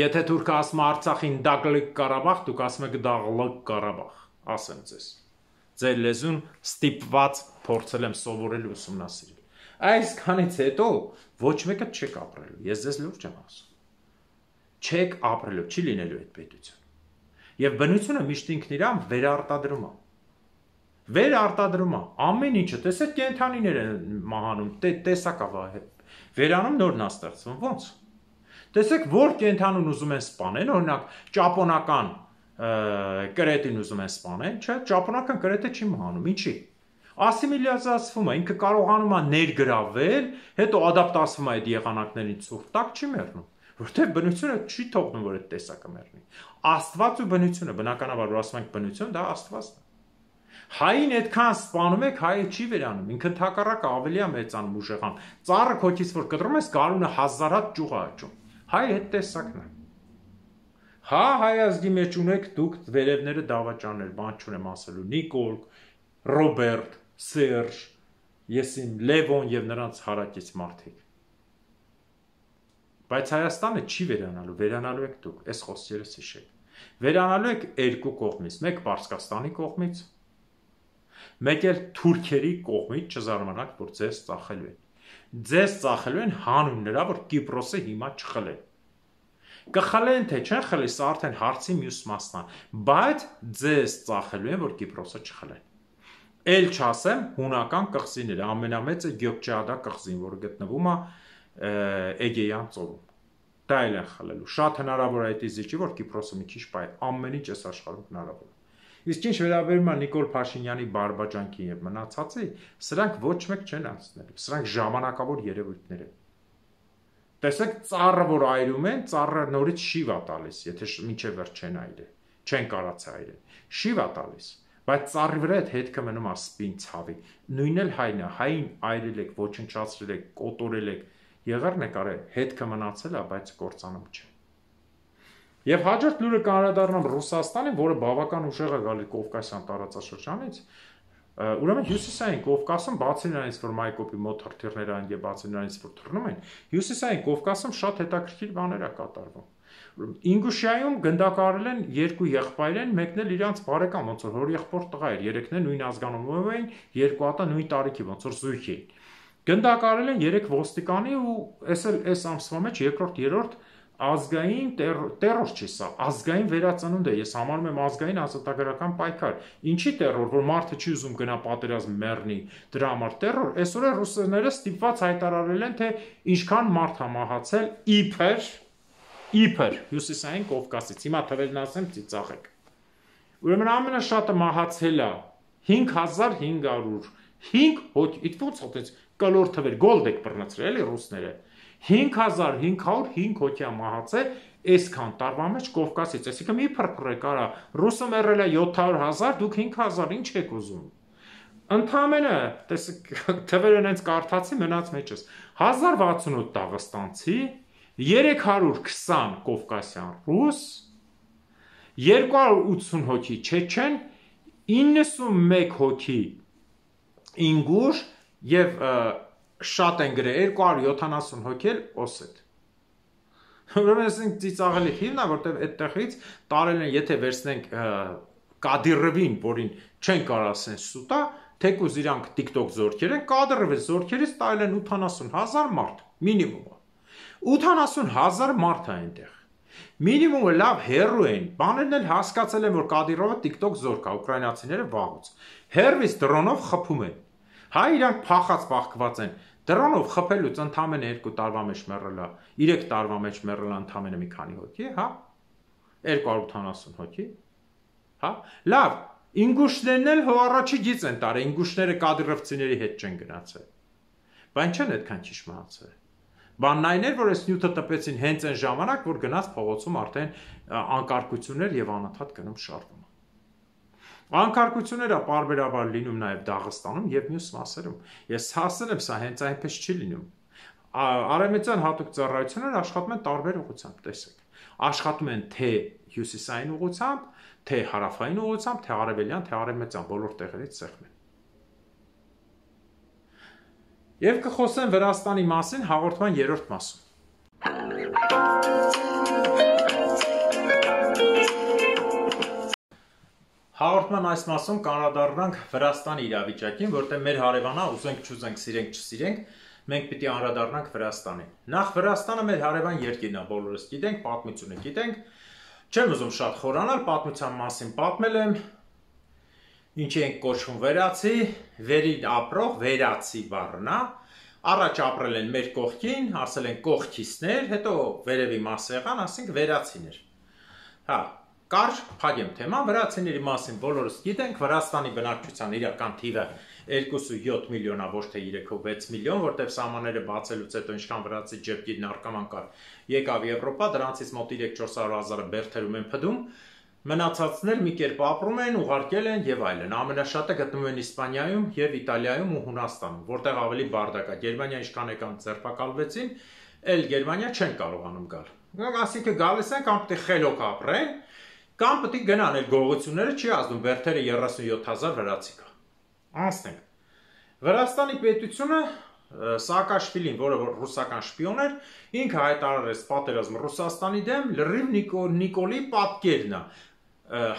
Եթե թուրքը ասում է Արցախին Դագլիկ Ղարաբաղ, դուք ասում եք Դաղլիկ Ղարաբաղ, ասեմ ձեզ։ Ձեր լեզուն ստիպված փորձել եմ սովորել ու ուսումնասիրել։ Այսքանից հետո ոչ մեկը չեք ապրելու։ Ես ձեզ լուրջ եմ ասում։ Չեք ապրելու, չի լինելու այդ պետություն։ Եվ բնությունը միշտ ինքն իրան վերարտադրում է։ Վերարտադրում է ամեն ինչը, տեսեք կենդանիներ են մահանում, տեսակա վերանում նորն է ստեղծվում, ո՞նց։ Տեսեք որ կենդանուն ուզում են սպանեն, օրինակ ճապոնական կրետին ուզում են սպանեն, չէ, ճապոնական կրետը չի մահանում, ինչի։ Ասիմիլիացվում է, ինքը կարողանում է ներգրավել, հետո ադապտացվում է այդ եղանակներին ցուրտ տակ չի մեռնում, որտեղ բնությունը չի թողնում, որ այդ տեսակը մեռնի։ Աստված ու բնությունը, բնականաբար որ ասում ենք բնություն, դա Աստվածն է։ Հային այդքան սպանում եք, հայը չի վերանում, ինքը թակառակը ավելի է մեծանում ուժեղան։ Ծառը քոքից որ կտրում ես, գարունը հազար հատ ճյուղ է աճում։ Հայը այդ տեսակն է։ Հա հայ ազգի մեջ ունեք դուք վերևները դավաճաններ, բան չունեմ ասելու, Նիկոլ, Ռոբերտ, Սերժ, ես իմ Լևոն եւ նրանց հարակից մարդիկ։ Բայց Հայաստանը չի վերանալու, վերանալու եք դուք, այս խոսքերս հիշեք։ Վերանալու եք երկու կողմից, մեկ Պարսկաստանի կողմից, մեկ էլ թուրքերի կողմից, չզարմանաք, որ ձեզ ծախելու են։ Ձեզ ծախելու են հանուն նրա, որ Կիպրոսը հիմա չխլեն։ Կխլեն թե չեն խլի, սա արդեն հարցի մյուս մասն է, բայց ձեզ ծախելու են, որ Կիպրոսը չխլեն։ Էլ չասեմ հունական կղզիները, ամենամեծը Գյոկչեադա կղզին, որը գտնվում է Էգեյան ծովում։ Դա էլ են խլելու։ Շատ հնարավոր է այդ իզիջի, որ Կիպրոսը մի քիչ բայ, ամեն ինչ էս աշխարհում հնարավոր է։ Իսկ ինչ վերաբերում է Նիկոլ Փաշինյանի բարբաջանքին եւ մնացածի, սրանք ոչ մեկ չեն անցնելու։ Սրանք ժամանակավոր երևույթներ են։ Տեսեք ծառը, որ այրում են, ծառը նորից շիվ է տալիս, եթե մինչև վերջ չեն այրել, չեն կարած այրել։ Շիվ է տալիս, բայց ծառի վրա այդ հետքը մնում է սպին ցավի։ Նույնն էլ հայն է, հային այրել եք, ոչնչացրել եք, կոտորել եք, եղերն եք արել, հետքը մնացել է, բայց կործանում չէ։ Եվ հաջորդ լուրը կանդրադառնամ Ռուսաստանին, որը բավական ուժեղ է գալի Կովկասյան տարածաշրջանից, ուրեմն հյուսիսային Կովկասում, բացի նրանից, որ Մայկոպի մոտ հրթիռներ են եւ բացի նրանից, որ թռնում են, հյուսիսային Կովկասում շատ հետաքրքիր բաներ է կատարվում։ Ինգուշիայում գնդակարել են երկու եղբայր են, մեկն էլ իրանց բարեկամ, ոնց որ հոր եղբոր տղա էր, երեքն էլ նույն ազգանունով էին, երկու հատը նույն տարիքի, ոնց որ զույգ էին։ Գնդակարել են երեք ոստիկանի ու էս էլ այս ամսվա մեջ երկրորդ, երրորդ ազգային տերոր չի սա, ազգային վերածնունդ է, ես համարում եմ ազգային ազատագրական պայքար։ Ինչի տերոր, որ մարդը չի ուզում գնա պատերազմ մեռնի, դրա համար տերոր, այսօր ռուսները ստիպված հայտարարել են, թե ինչքան մարդ է մահացել իբր, իբր հյուսիսային Կովկասից, հիմա թվերն ասեմ ծիծաղեք։ Ուրեմն ամենաշատը մահացել է հինգ հազար հինգ հարյուր հինգ հոգի, իդ ոնց հոտեց կլոր թվեր, գոլդ եք բռնացրել էլի ռուսները, հինգ հազար հինգ հարյուր հինգ հոգի մահացել այսքան տարվա մեջ Կովկասից, այսինքն մի փրփրեք արա, ռուսը մեռել է յոթ հարյուր հազար, դուք հինգ հազար, ինչ եք ուզում։ Ընդամենը, տեսեք, թվերը հենց կարդացի, մնաց մեջս, հազար վաթսունութ դաղստանցի, երեք հարյուր քսան կովկասյան ռուս, երկու հարյուր ութսուն հոգի չեչեն, իննսունմեկ հոգի ինգուշ եւ շատ են գրել երկու հարյուր յոթանասուն հոգի էլ օսետ։ Ուրեմն ասենք ծիծաղելի ֆիլմն է, որտեղ այդտեղից տարել են, եթե վերցնենք Կադիրովին, որին չեն կարող ասեն սուտա, թեկուզ իրանք TikTok զորքեր են, Կադիրովի զորքերից տարել են ութանասուն հազար մարդ, մինիմումը։ ութանասուն հազար մարդ է այնտեղ։ Մինիմումը լավ հերու են, բաներն էլ հասկացել են, որ Կադիրովը TikTok զորք է, ուկրաինացիները վաղուց։ Հերվիս դրոնով խփում են։ Հայ իրանք փախած բախկված են։ Դրոնով խփելուց ընդամենը երկու տարվա մեջ մեռել է, երեք տարվա մեջ մեռել է ընդամենը մի քանի հոգի, հա։ երկու հարյուր ութանասուն հոգի։ Հա։ Լավ, ինգուշներն էլ հո առաջի գից են տարել, ինգուշները կադիրովցիների հետ չեն գնացել։ Բայց չեն այդքան ճիշտ մահացել։ Բանն այն էր, որ այս նյութը տպեցին հենց այն ժամանակ, որ գնաց փողոցում արդեն անկարգություններ եւ անընդհատ գնում շարժվում։ Անկարգությունները պարբերաբար լինում նաև Դաղստանում եւ մյուս մասերում։ Ես հասել եմ, սա հենց այնպես չի լինում։ Արևմտյան հատուկ ծառայությունները աշխատում են տարբեր ուղղությամբ, տեսեք։ Աշխատում են թե հյուսիսային ուղղությամբ, թե հարավային ուղղությամբ, թե արևելյան, թե արևմտյան, բոլոր տեղերից սեղմեն։ Եվ կխոսեմ Վրաստանի մասին հաղորդման երրորդ մասում։ Հաղորդման այս մասում կանրադառնանք Վրաստանի իրավիճակին, որտեղ մեր հարևանա ուզենք չուզենք, սիրենք չսիրենք, մենք պիտի անդրադառնանք Վրաստանին։ Նախ Վրաստանը մեր հարևան երկիրն է, բոլորս գիտենք, պատմությունը գիտենք։ Չեմ ուզում շատ խորանալ, պատմության մասին պատմել եմ։ Ինչի ենք կոչվում վերացի, վերին ապրող, վերացի բառն է։ Առաջ ապրել են մեր կողքին, ասել են կողքիստներ, հետո վերևի մաս եղան, ասենք վերացիներ։ Հա, կարճ փակեմ թեման, վրացիների մասին բոլորս գիտենք, Վրաստանի բնակչության իրական թիվը երկու յոթ միլիոն է, ոչ թե երեք վեց միլիոն, որտեղ սահմանները բացելուց հետո ինչքան վրացի ջեփքի նարկաման կար, եկավ Եվրոպա, դրանցից մոտ երեք-չորս հարյուր հազարը բերթերում են փդում, մնացածներ մի կերպ ապրում են, ուղարկել են եւ այլն։ Ամենաշատը գտնվում են Իսպանիայում եւ Իտալիայում ու Հունաստանում, որտեղ ավելի բարդակ է։ Գերմանիա ինչքան եկան ձերբակալվեցին, էլ Գերմանիա չեն կարողանում գալ։ Ասիկը գալիս են կամ պիտի խելոք ապրեն, կամ պիտի գնան, այլ գողությունները չի ազդում, բերթերը երեսունյոթ հազար վրացի կա։ Անցնենք։ Վրաստանի պետությունը Սաակաշվիլին, որը ռուսական շպիոն էր, ինքը հայտարարեց պատերազմ Ռուսաստանի դեմ, լրիվ Նիկոլի պատկերն է,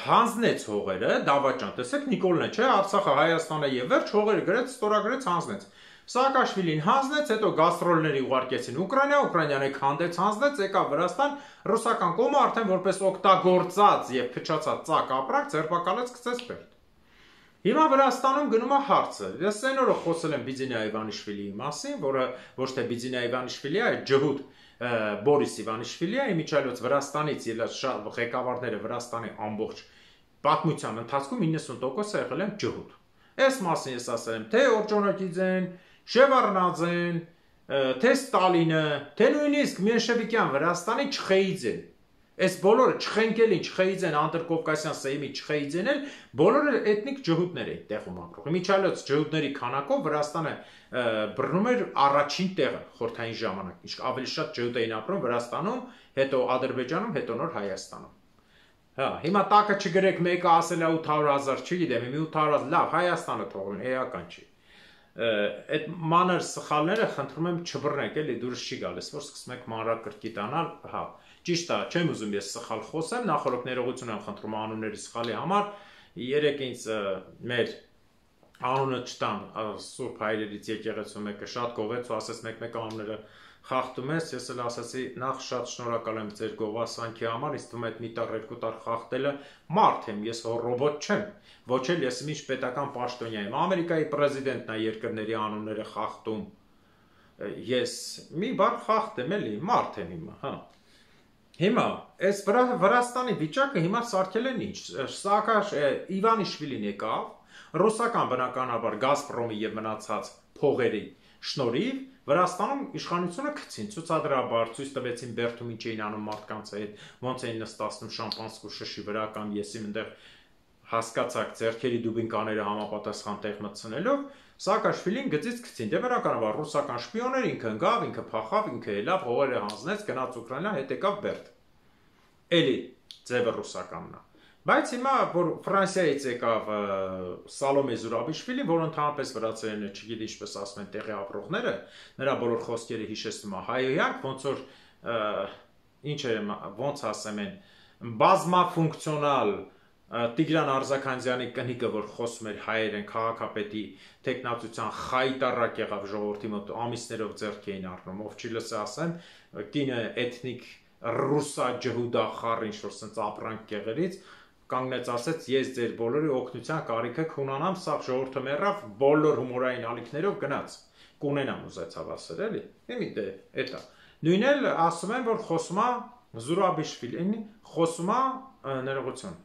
հանձնեց հողերը, դավաճան, տեսեք Նիկոլն է, չէ, Արցախը, Հայաստանը եւ վերջ հողերը գրեց, ստորագրեց, հանձնեց։ Սաակաշվիլին հանձնեց, հետո գաստրոլների ուղարկեցին Ուկրաինա, Ուկրաինան եք հանդեց հանձնեց, եկավ Վրաստան, ռուսական կողմը արդեն որպես օգտագործած եւ փչացած ծակ ապրանք ձերբակալեց, գցեց բերդ։ Հիմա Վրաստանում գնում է հարցը։ Ես այն օրը խոսել եմ Բիձինա Իվանիշվիլիի մասին, որը ոչ թե Բիձինա Իվանիշվիլի է, այլ ջհուդ Բորիս Իվանիշվիլի է, իմիջիայլոց Վրաստանից ելած ղեկավարները Վրաստանի ամբողջ պատմության ընթացքում իննսուն տոկոսը եղել են ջհուդ։ Այս մասին ես ասել եմ, թե Օրջոնոկիձեն, Շևարդնաձեն, թե Ստալինը, թե նույնիսկ Մենշևիկյան Վրաստանի Չխեիձեն։ Այս բոլորը Չխենկելին, Չխեիձեն, Անդրկովկասյան Սեյմի Չխեիձեն էլ բոլորը էթնիկ ջհուդներ էին տեղում ապրող։ Իմիջիայլոց ջհուդների քանակով Վրաստանը բռնում էր առաջին տեղը խորհրդային ժամանակ։ Իսկ ավելի շատ ջհուդ էին ապրում Վրաստանում, հետո Ադրբեջանում, հետո նոր Հայաստանում։ Հա, հիմա տակը չգրեք մեկը ասել է ութ հարյուր հազար, չգիտեմ, մի ութ հարյուր հազար, լավ, Հայաստանը թողին, էական չի։ Այդ մանր սխալները խնդրում եմ չբռնեք, էլի դուրս չի գալիս, որ սկսում եք մանրակրկիտ անալ, հա։ Ճիշտ է, չեմ ուզում ես սխալ խոսեմ, նախորդ ներողություն եմ խնդրում անունների սխալի համար, երեք ինձ մեր անունը չտան Սուրբ Հայրերից եկեղեցու մեկը շատ գովեց ու ասեց մեկ-մեկ անունները խախտում ես, ես էլ ասացի նախ շատ շնորհակալ եմ ձեր գովասանքի համար, ինձ թվում է այդ մի տար երկու տար խախտելը մարդ եմ, ես ռոբոտ չեմ, ոչ էլ ես ինչ պետական պաշտոնյա եմ, Ամերիկայի պրեզիդենտն է երկրների անունները խախտում, ես մի բառ խախտեմ էլի, մարդ եմ հիմա, հա։ Հիմա, այս Վրաստանի վիճակը հիմա սարքել են ինչ, Սաակաշ Իվանիշվիլին եկավ, Ռուսական բնականաբար Գազպրոմի եւ մնացած փողերի շնորհիվ Վրաստանում իշխանությունը գցին ցուցադրաբար, ցույց տվեցին Բերդում ինչ էին անում մարդկանց հետ, ոնց էին նստածնում շամպանսկու շշի վրա կամ եսի այնտեղ հասկացակ ձեռքերի դուբինկաները համապատասխան տեղ մտցնելով, Սաակաշվիլին գծից գցին։ Դե բնականաբար ռուսական շպիոներ, ինքը ընկավ, ինքը փախավ, ինքը ելավ, հողերը հանձնեց, գնաց Ուկրաինա, հետ եկավ Բերդ։ Էլի ձևը ռուսականն է։ Բայց հիմա որ Ֆրանսիայից եկավ Սալոմե Զուրաբիշվիլին, որ ընդհանրապես վրացերենը չգիտի ինչպես ասում են տեղի ապրողները, նրա բոլոր խոսքերը հիշեցնում է հայոյանք, ոնց որ ինչ է, ոնց ասեմ են, բազմաֆունկցիոնալ Տիգրան Արզաքանյանի կնիկը, որ խոսում էր հայերեն քաղաքապետի տեխնացության խայտարակ եղավ ժողովրդի մոտ ամիսներով ձեռք էին առնում, ով չի լսի ասեմ, կինը էթնիկ ռուսա ջհուդա խառ ինչ որ սենց ապրանք կեղերից կանգնեց ասեց ես ձեր բոլորի օգնության կարիքը կունենամ, սա ժողովուրդը մեռավ բոլոր հումորային ալիքներով գնաց կունենամ ուզեցավ ասել էլի իմի դե էտա նույնն էլ ասում են որ խոսում է Զուրաբիշվիլին խոսում է ներողություն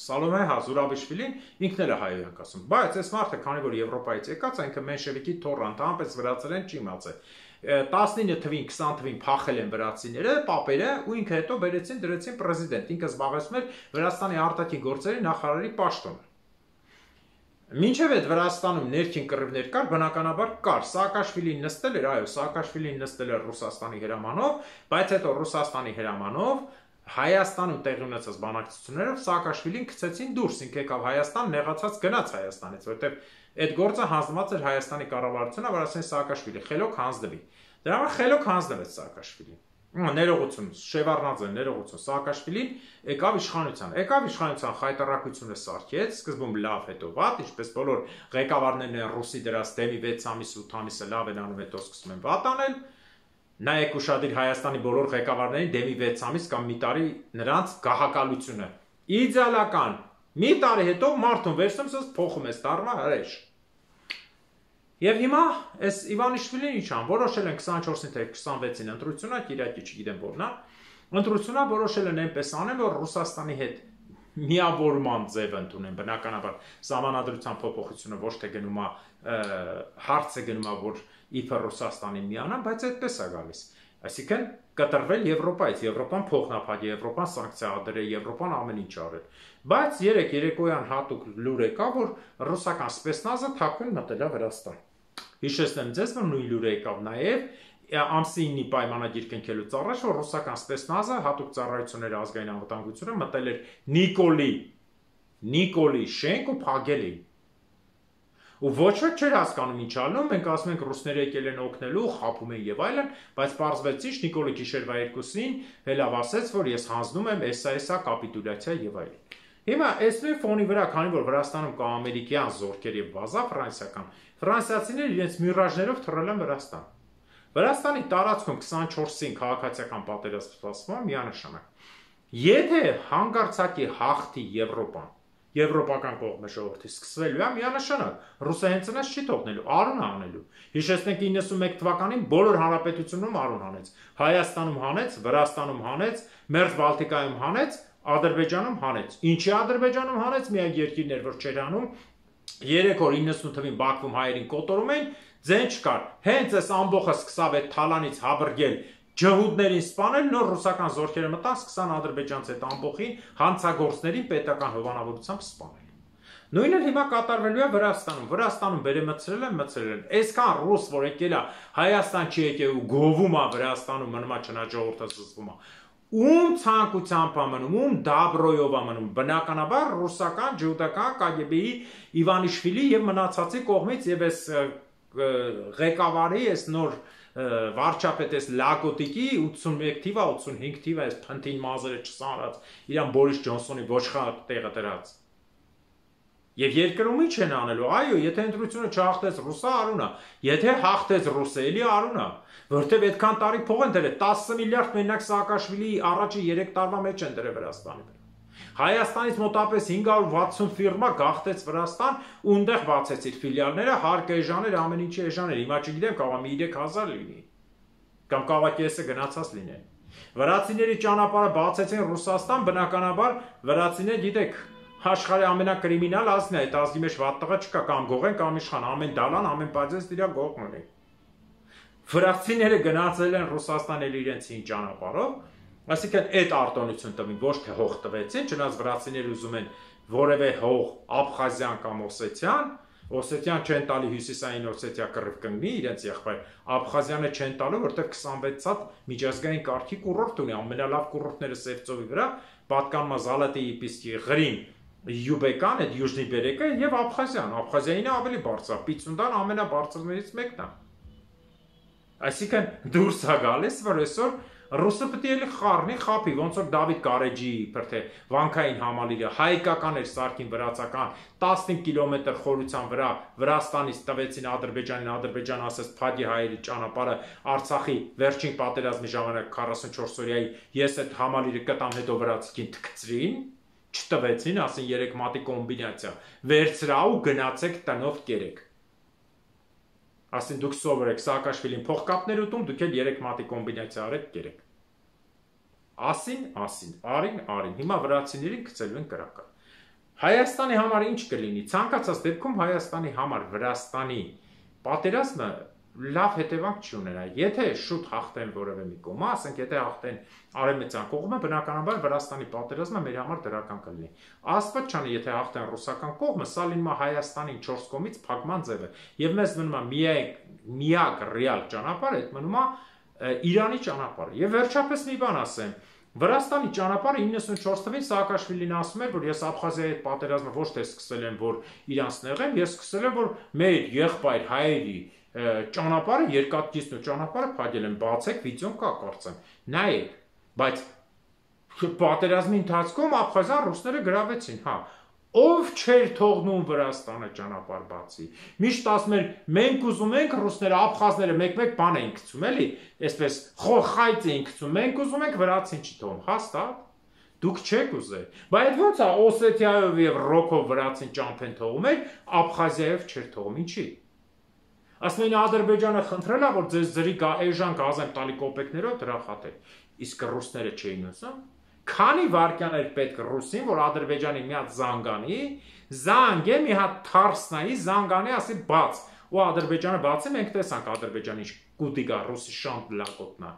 Սալոմե Զուրաբիշվիլին ինքն էլ է հայոյանք ասում բայց այս մարդը քանի որ Եվրոպայից եկած այնքը մենշևիկի թոռանտ անպես վրացերեն չի իմացել տասնինը թվին քսան թվին փախել են վրացիները, պապերը ու ինքը հետո բերեցին դրեցին պրեզիդենտ, ինքը զբաղեցնում էր Վրաստանի արտաքին գործերի նախարարի պաշտոնը։ Մինչև այդ Վրաստանում ներքին կռիվներ կար, բնականաբար կար, Սաակաշվիլին նստել էր, այո, Սաակաշվիլին նստել էր Ռուսաստանի հրամանով, բայց հետո Ռուսաստանի հրամանով Հայաստանում տեղի ունեցած բանակցություններով Սաակաշվիլին գցեցին դուրս, ինքը եկավ Հայաստան, նեղացած գնաց Հայաստանից, որտեղ այդ գործը հանձնված էր Հայաստանի կառավարությունը, որ ասեն Սաակաշվիլի խելոք հանձնվի։ Դրա համար խելոք հանձնվեց Սաակաշվիլին։ Ներողություն, Շևարդնաձեն, ներողություն, Սաակաշվիլին եկավ իշխանության։ Եկավ իշխանության խայտարակությունը սարքեց, սկզբում լավ, հետո վատ, ինչպես բոլոր ղեկավարներն են ռուսի դրած դեմի վեց ամիս ութ ամիսը լավ են անում, հետո սկսում են վատ անել։ Նայեք ուշադիր Հայաստանի բոլոր ղեկավարներին դեմի վեց ամիս կամ մի տարի նրանց գահակալությունը։ Իդեալական։ Մի տարի հետո մարդուն վերցնում ես փոխում ես դառնա հրեշ։ Եվ հիմա այս Իվանիշվիլին ինչ ան որոշել են քսանչորսին թե քսանվեցին ընտրությունը, Կիրակի չգիտեմ որն է, ընտրությունը որոշել են այնպես անեն, որ Ռուսաստանի հետ միավորման ձև ընդունեն, բնականաբար սահմանադրության փոփոխությունը ոչ թե գնում է հարցը գնում է, որ իբր Ռուսաստանի միանան, բայց այդպես է գալիս։ Այսինքն կտրվել Եվրոպայից, Եվրոպան փոխնապատի, Եվրոպան սանկցիա դրել, Եվրոպան ամեն ինչ արել։ Բայց երեք երեկոյան հատուկ լուր եկավ, որ ռուսական սպեցնազը թաքուն մտել է Վրաստան։ Հիշեցնեմ ձեզ, որ նույն լուրը եկավ նաև ամսինի պայմանագիր կնքելուց առաջ, որ ռուսական սպեցնազը հատուկ ծառայությունների ազգային անվտանգությունը մտել էր Նիկոլի, Նիկոլի շենք ու փակել էին։ Ու ոչ ոք չէր հասկանում ինչ անում, մենք ասում ենք ռուսները եկել են օգնելու, խաբում են եւ այլն, բայց պարզվեց ինչ Նիկոլի գիշերվա երկուսին հելավ ասեց, որ ես հանձնում եմ էսա էսա կապիտուլյացիա եւ այլն։ Հիմա այս նույն ֆոնի վրա, քանի որ Վրաստանում կա ամերիկյան զորքեր եւ բազա ֆրանսիական, ֆրանսիացիները իրենց միրաժներով թռել են Վրաստան։ Վրաստանի տարածքում քսանչորսին քաղաքացիական պատերազմ սպասվում միանշանակ։ Եթե հանկարծակի հաղթի Եվրոպան, Եվրոպական կողմը ժողովրդի սկսվելու է միանշանակ, ռուսը հենց այնպես չի թողնելու, արուն անելու։ Հիշեցնենք իննսունմեկ թվականին բոլոր հանրապետությունում արուն հանեց, Հայաստանում հանեց, Վրաստանում հանեց, Մերձ Բալտիկայում հանեց, Ադրբեջանում հանեց։ Ինչի Ադրբեջանում հանեց, միակ երկիրն էր, որ չէր հանում, երեք օր իննսուն թվին Բաքվում հայերին կոտորում էին, ձեն չկար։ Հենց այս ամբողջը սկսավ այդ թալանից հաբրգել ջհուդներին սպանել, նոր ռուսական զորքերը մտան, սկսան ադրբեջանց այդ ամբողջին հանցագործներին պետական հովանավորությամբ սպանել։ Նույնը հիմա կատարվելու է Վրաստանում։ Վրաստանում վերեմցրել են, մցրել են։ Այսքան ռուս, որ եկել է Հայաստան չի եկել ու գովում է Վրաստանում, մնում է չնաջողորդը զսվում է։ Ում ցանկությամբ է մնում, ում դաբրոյով է մնում, բնականաբար ռուսական, ջհուդական, կա գե բի-ի Իվանիշվիլի եւ մնացածի կողմից եւ այս ղեկավարի այս նոր վարչապետ այս լակոտիկի ութսունմեկ թիվա, ութսունհինգ թիվա այս փնթին մազերը չսանրած, իրան Բորիս Ջոնսոնի ոչխար տեղը դրած։ Եվ երկրում ինչ են անելու, այո, եթե ընտրությունը չհաղթեց ռուսը արունա, եթե հաղթեց ռուսը էլի արունա, որտեվ այդքան տարի փող են դրել, տասը միլիարդ մենակ Սաակաշվիլի առաջի երեք տարվա մեջ են դրել Վրաստանի վրա։ Հայաստանից մոտապես հինգ հարյուր վաթսուն ֆիրմա գաղթեց Վրաստան ու այնտեղ բացեց իր ֆիլիալները, հարկ էժաներ, ամեն ինչի էժաներ, հիմա չգիտեմ, կարող է մի երեք հազար լինի, կամ կարող է կեսը գնացած լինեն։ Վրացիների ճանապարհը բացեցին Ռուսաստան, բնականաբար վրացիները գիտեք, աշխարհի ամենակրիմինալ ազգն է, այդ ազգի մեջ վատ տղա չկա, կամ գողեն կամ իշխան, ամեն դալան, ամեն բաժես դրա գողն ունի։ Վրացիները գնացել են Ռուսաստան էլ իրենց հին ճանապարհով, այսինքն այդ արտոնություն տվին, ոչ թե հող տվեցին, չնայած վրացիները ուզում են որևէ հող Աբխազիան կամ Օսետիան, Օսետիան չեն տալի հյուսիսային Օսետիա կռիվ կանգնի իրենց եղբայր, Աբխազիանը չեն տալու, որտեղ քսանվեց հատ միջազգային կարգի կուրորտ ունի, ամենալավ կուրորտները Սևծովի վրա, պատկանում է Զալատի Իպիսկի Ղրիմ, Յուբեկան, այդ Յուժնի Բերեկը եւ Աբխազիան, Աբխազիային ավելի բարձր, Պիցունդան ամենաբարձրներից մեկն է։ Այսինքն դուրս է գալիս, որ այսօր ռուսը պետք է խառնի խափի, ոնց որ Դավիթ Գարեջի, բրթե վանքային համալիրը հայկական էր սարքին վրացական տասնհինգ կիլոմետր խորության վրա Վրաստանից տվեցին Ադրբեջանին, Ադրբեջանը ասաց փագի հայերի ճանապարհը Արցախի վերջին պատերազմի ժամանակ քառասունչորս օրյայի ես այդ համալիրը կտամ, հետո վրացիքին թքցրին, չտվեցին, ասին երեք մատի կոմբինացիա, վերցրա ու գնացեք տնով կերեք։ Ասին դուք սովորեք Սաակաշվիլին փողկապներ ուտում, դուք էլ երեք մատի կոմբինացիա արեք կերեք։ Ասին, ասին, արին, արին, հիմա վրացիներին գցելու են կրակը։ Հայաստանի համար ինչ կլինի, ցանկացած դեպքում Հայաստանի համար Վրաստանի պատերազմը լավ հետևանք չի ունենա, եթե շուտ հաղթեն որևէ մի կողմը, ասենք եթե հաղթեն արևմտյան կողմը, բնականաբար Վրաստանի պատերազմը մեր համար դրական կլինի։ Աստված չանի, եթե հաղթեն ռուսական կողմը, սա լինում է Հայաստանին չորս կողմից փակման ձևը, եւ մեզ մնում է միակ միակ ռեալ ճանապարհը, այդ մնում է Իրանի ճանապարհը։ Եվ վերջապես մի բան ասեմ, Վրաստանի ճանապարհը իննսունչորս թվականին Սաակաշվիլին ասում էր, որ ես Աբխազիայի հետ պատերազմը ոչ թե սկսել եմ, որ իրանց նեղեմ, ես սկսել եմ, որ մեր եղբայր հայերի ճանապարհը երկաթգիծն ու ճանապարհը փակել են, բացեք վիդեոն կա կարծեմ, նայեք, բայց պատերազմի ընթացքում Աբխազիան ռուսները գրավեցին, հա, ով չէր թողնում Վրաստանը ճանապարհ բացի, միշտ ասում էր, մենք ուզում ենք ռուսները, աբխազները մեկ-մեկ բան էին գցում, էլի, այսպես խայծ էին գցում, մենք ուզում ենք վրացին չթողում, հաստատ, դուք չեք ուզել, բայց ոնց է Օսետիայով եւ Ռոքով վրացին ճամփեն թողում էր, Աբխազիայով չէր թողում, ինչի։ Ասում էին Ադրբեջանը խնդրել է, որ ձեզ ձրի էժան գազ եմ տալի կոպեկներով դրա խաթել, իսկ ռուսները չէին ուզում։ Քանի վարկյան էր պետք ռուսին, որ Ադրբեջանի մի հատ զանգանի, զանգե մի հատ թարսնայի, զանգանի ասի բաց, ու Ադրբեջանը բացի, մենք տեսանք Ադրբեջանի կուտիկա ռուսի շանտ լակոտնա։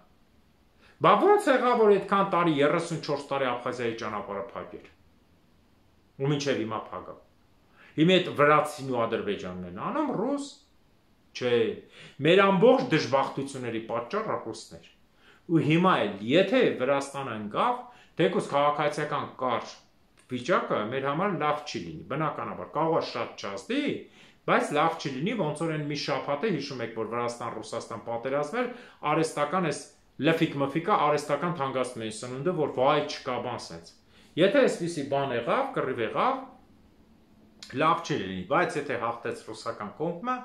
Բա ոնց եղավ, որ այդքան տարի երեսունչորս տարի Աբխազիայի ճանապարհը փակեր։ Ու մինչև հիմա փակա։ Հիմա այդ վրացին ու Ադրբեջանն են անում ռուս, չէ, մեր ամբողջ դժբախտությունների պատճառը ռուսն էր։ Ու հիմա էլ, եթե Վրաստանը ընկավ, թեկուզ քաղաքացիական կարճ վիճակը մեր համար լավ չի լինի, բնականաբար, կարող է շատ չազդի, բայց լավ չի լինի, ոնց որ այն մի շաբաթ է, հիշում եք, որ Վրաստան-Ռուսաստան պատերազմներ, արհեստական էս լֆիկ-մֆիկա արհեստական թանկացնում էին սնունդը, որ վայ չկա բան սենց։ Եթե այսպիսի բան եղավ, կռիվ եղավ, լավ չի լինի, բայց եթե հաղթեց ռուսական կողմը,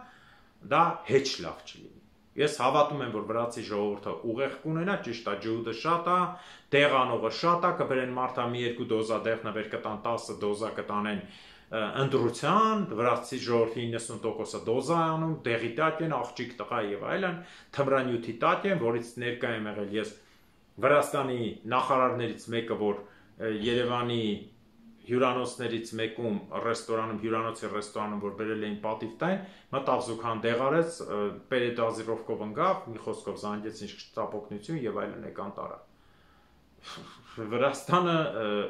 դա հեչ լավ չի լինի։ Ես հավատում եմ, որ վրացի ժողովուրդը ուղեղ կունենա, ճիշտ է, ջհուդը շատ է, դեղանողը շատ է, կբերեն մարդա մի երկու դոզա դեղնաբեր կտան, տասը դոզա կտանեն ընտրության, վրացի ժողովրդի իննսուն տոկոսը դոզա է անում, դեղի տակ են, աղջիկ տղա եւ այլն, թմրանյութի տակ են, որից ներկա եմ եղել ես Վրաստանի նախարարներից մեկը, որ Երևանի հյուրանոցներից մեկում ռեստորանում, հյուրանոցի ռեստորանում, որ բերել էին պատիվ տային, մտավ զուգան դեղարեց, պերեդազիրովկով ընկավ, մի խոսքով զանգեց ինչ ծապոկնություն եւ այլն եկան տարա։ Վրաստանը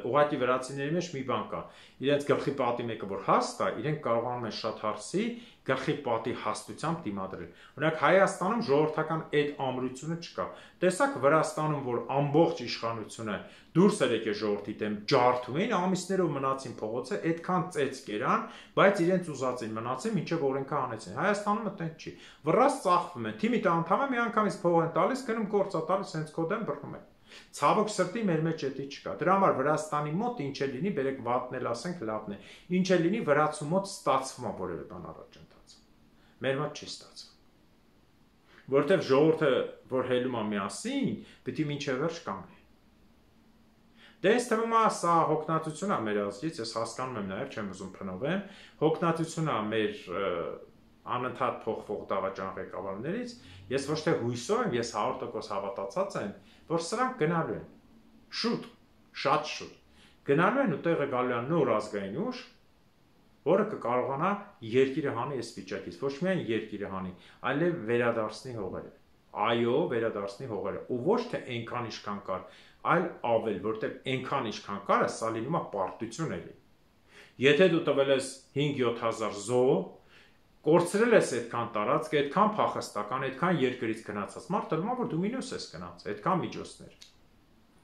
ուղղակի վրացիների մեջ մի բան կա, իրենց գլխի պատի մեկը որ հաստ է, իրենք կարողանում են շատ հարցի գլխի պատի հաստությամբ դիմադրել։ Օրինակ Հայաստանում ժողովրդական այդ ամրությունը չկա։ Տեսակ Վրաստանում, որ ամբողջ իշխանությունը դուրս էր եկել ժողովրդի դեմ ջարդում էին, ամիսներով մնացին փողոցը, այդքան ծեծ կերան, բայց իրենց ուզածին մնացին, մինչև օրենքը հանեցին։ Հայաստանում այդտեղ չի։ Վրաց ծախվում են, թիմի անդամը մի անգամից փող են տալիս, գնում գործա տալիս, հենց քո դեմ բռնում են։ Ցավոք սրտի մեր մեջ էդի չկա։ Դրա համար Վրաստանի մոտ ինչ է լինի, բերեք վատն էլ ասենք լավն է։ Ինչ է լինի վրացու մոտ ստացվում է որևէ բան առաջընթացը։ Մեր մոտ չի ստացվում։ Որտեվ ժողովուրդը, որ հելում է միասին, պիտի մինչև վերջ կանգնի։ Դե ինձ թվում է սա հոգնածություն է մեր ազգից, ես հասկանում եմ նաև, չեմ ուզում փնովեմ, հոգնածություն է մեր անընդհատ փոխվող դավաճան ղեկավարներից, ես ոչ թե հույսով եմ, ես հարյուր տոկոս հավատացած եմ, որ սրանք գնալու են, շուտ, շատ շուտ, գնալու են ու տեղը գալու են նոր ազգային ուժ, որը կկարողանա երկիրը հանի այս վիճակից, ոչ միայն երկիրը հանի, այլև վերադարձնի հողերը։ Այո, վերադարձնի հողերը, ու ոչ թե այնքան ինչքան կար, այլ ավել, որտեղ այնքան ինչքան կար, սա լինում է պարտություն էլի։ Եթե դու տվել ես հինգ-յոթ հազար զոհ, կորցրել ես այդքան տարածք, այդքան փախստական, այդքան երկրից գնացած, մարդը լավ որ դու մինուս ես գնաց, այդքան միջոցներ։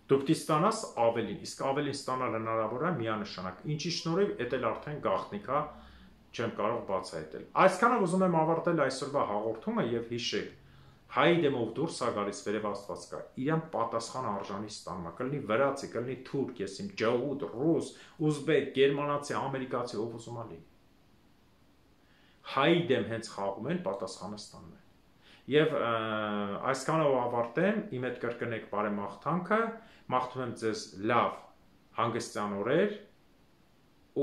Դու պիտի ստանաս ավելին, իսկ ավելին ստանալ հնարավոր է միանշանակ, ինչի շնորհիվ էդ էլ արդեն գաղտնիք է, չեմ կարող բացահայտել։ Այսքանով ուզում եմ ավարտել այսօրվա հաղորդումը եւ հիշեք, հայի դեմով դուրս է գալիս վերև Աստված կա, իրան պատասխան արժանի ստանում է, կլինի վրացի, կլինի թուրք, ես իմ ջհուդ, ռուս, ուզբեկ, գերմանացի, ամերիկացի, ով ուզում է լինի։ Հայի դեմ հենց խաղում են, պատասխանը ստանում են։ Եվ այսքանով ավարտեմ, իմ հետ կրկնեք բարեմաղթանքը, մաղթում եմ ձեզ լավ հանգստյան օրեր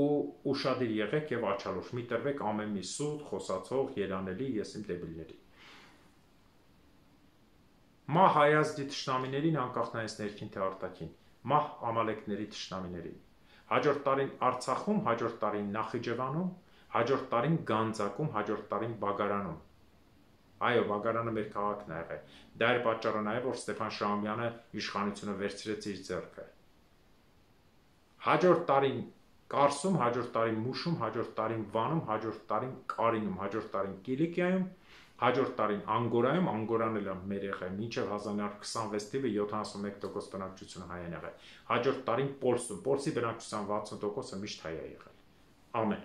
ու ուշադիր եղեք եւ աչալուշ մի տրվեք ամեն մի սուտ, խոսացող, երանելի, ես իմ դեբիլների։ Մահ Հայազդի թշնամիներին անկախ նայես ներքին թե արտաքին, մահ Ամալեկների թշնամիներին։ Հաջորդ տարին Արցախում, հաջորդ տարին Նախիջևանում, հաջորդ տարին Գանձակում, հաջորդ տարին Բագարանում։ Այո, Բագարանը մեր քաղաքն է եղել։ Դա էր պատճառը նաև, որ Ստեփան Շահումյանը իշխանությունը վերցրեց իր ձեռքը։ Հաջորդ տարին Կարսում, հաջորդ տարին Մուշում, հաջորդ տարին Վանում, հաջորդ տարին Կարինում, հաջորդ տարին Կիլիկիայում, հաջորդ տարին Անգորայում, Անգորան էլ մեր եղել, մինչև հազար նոր քսանվեց թիվը յոթանասունմեկ տոկոս բնակչությունը հայ են եղել։ Հաջորդ տարին Պոլսում, Պոլսի բնակչության վաթսուն տոկոսը միշտ հայ է եղել։ Ամեն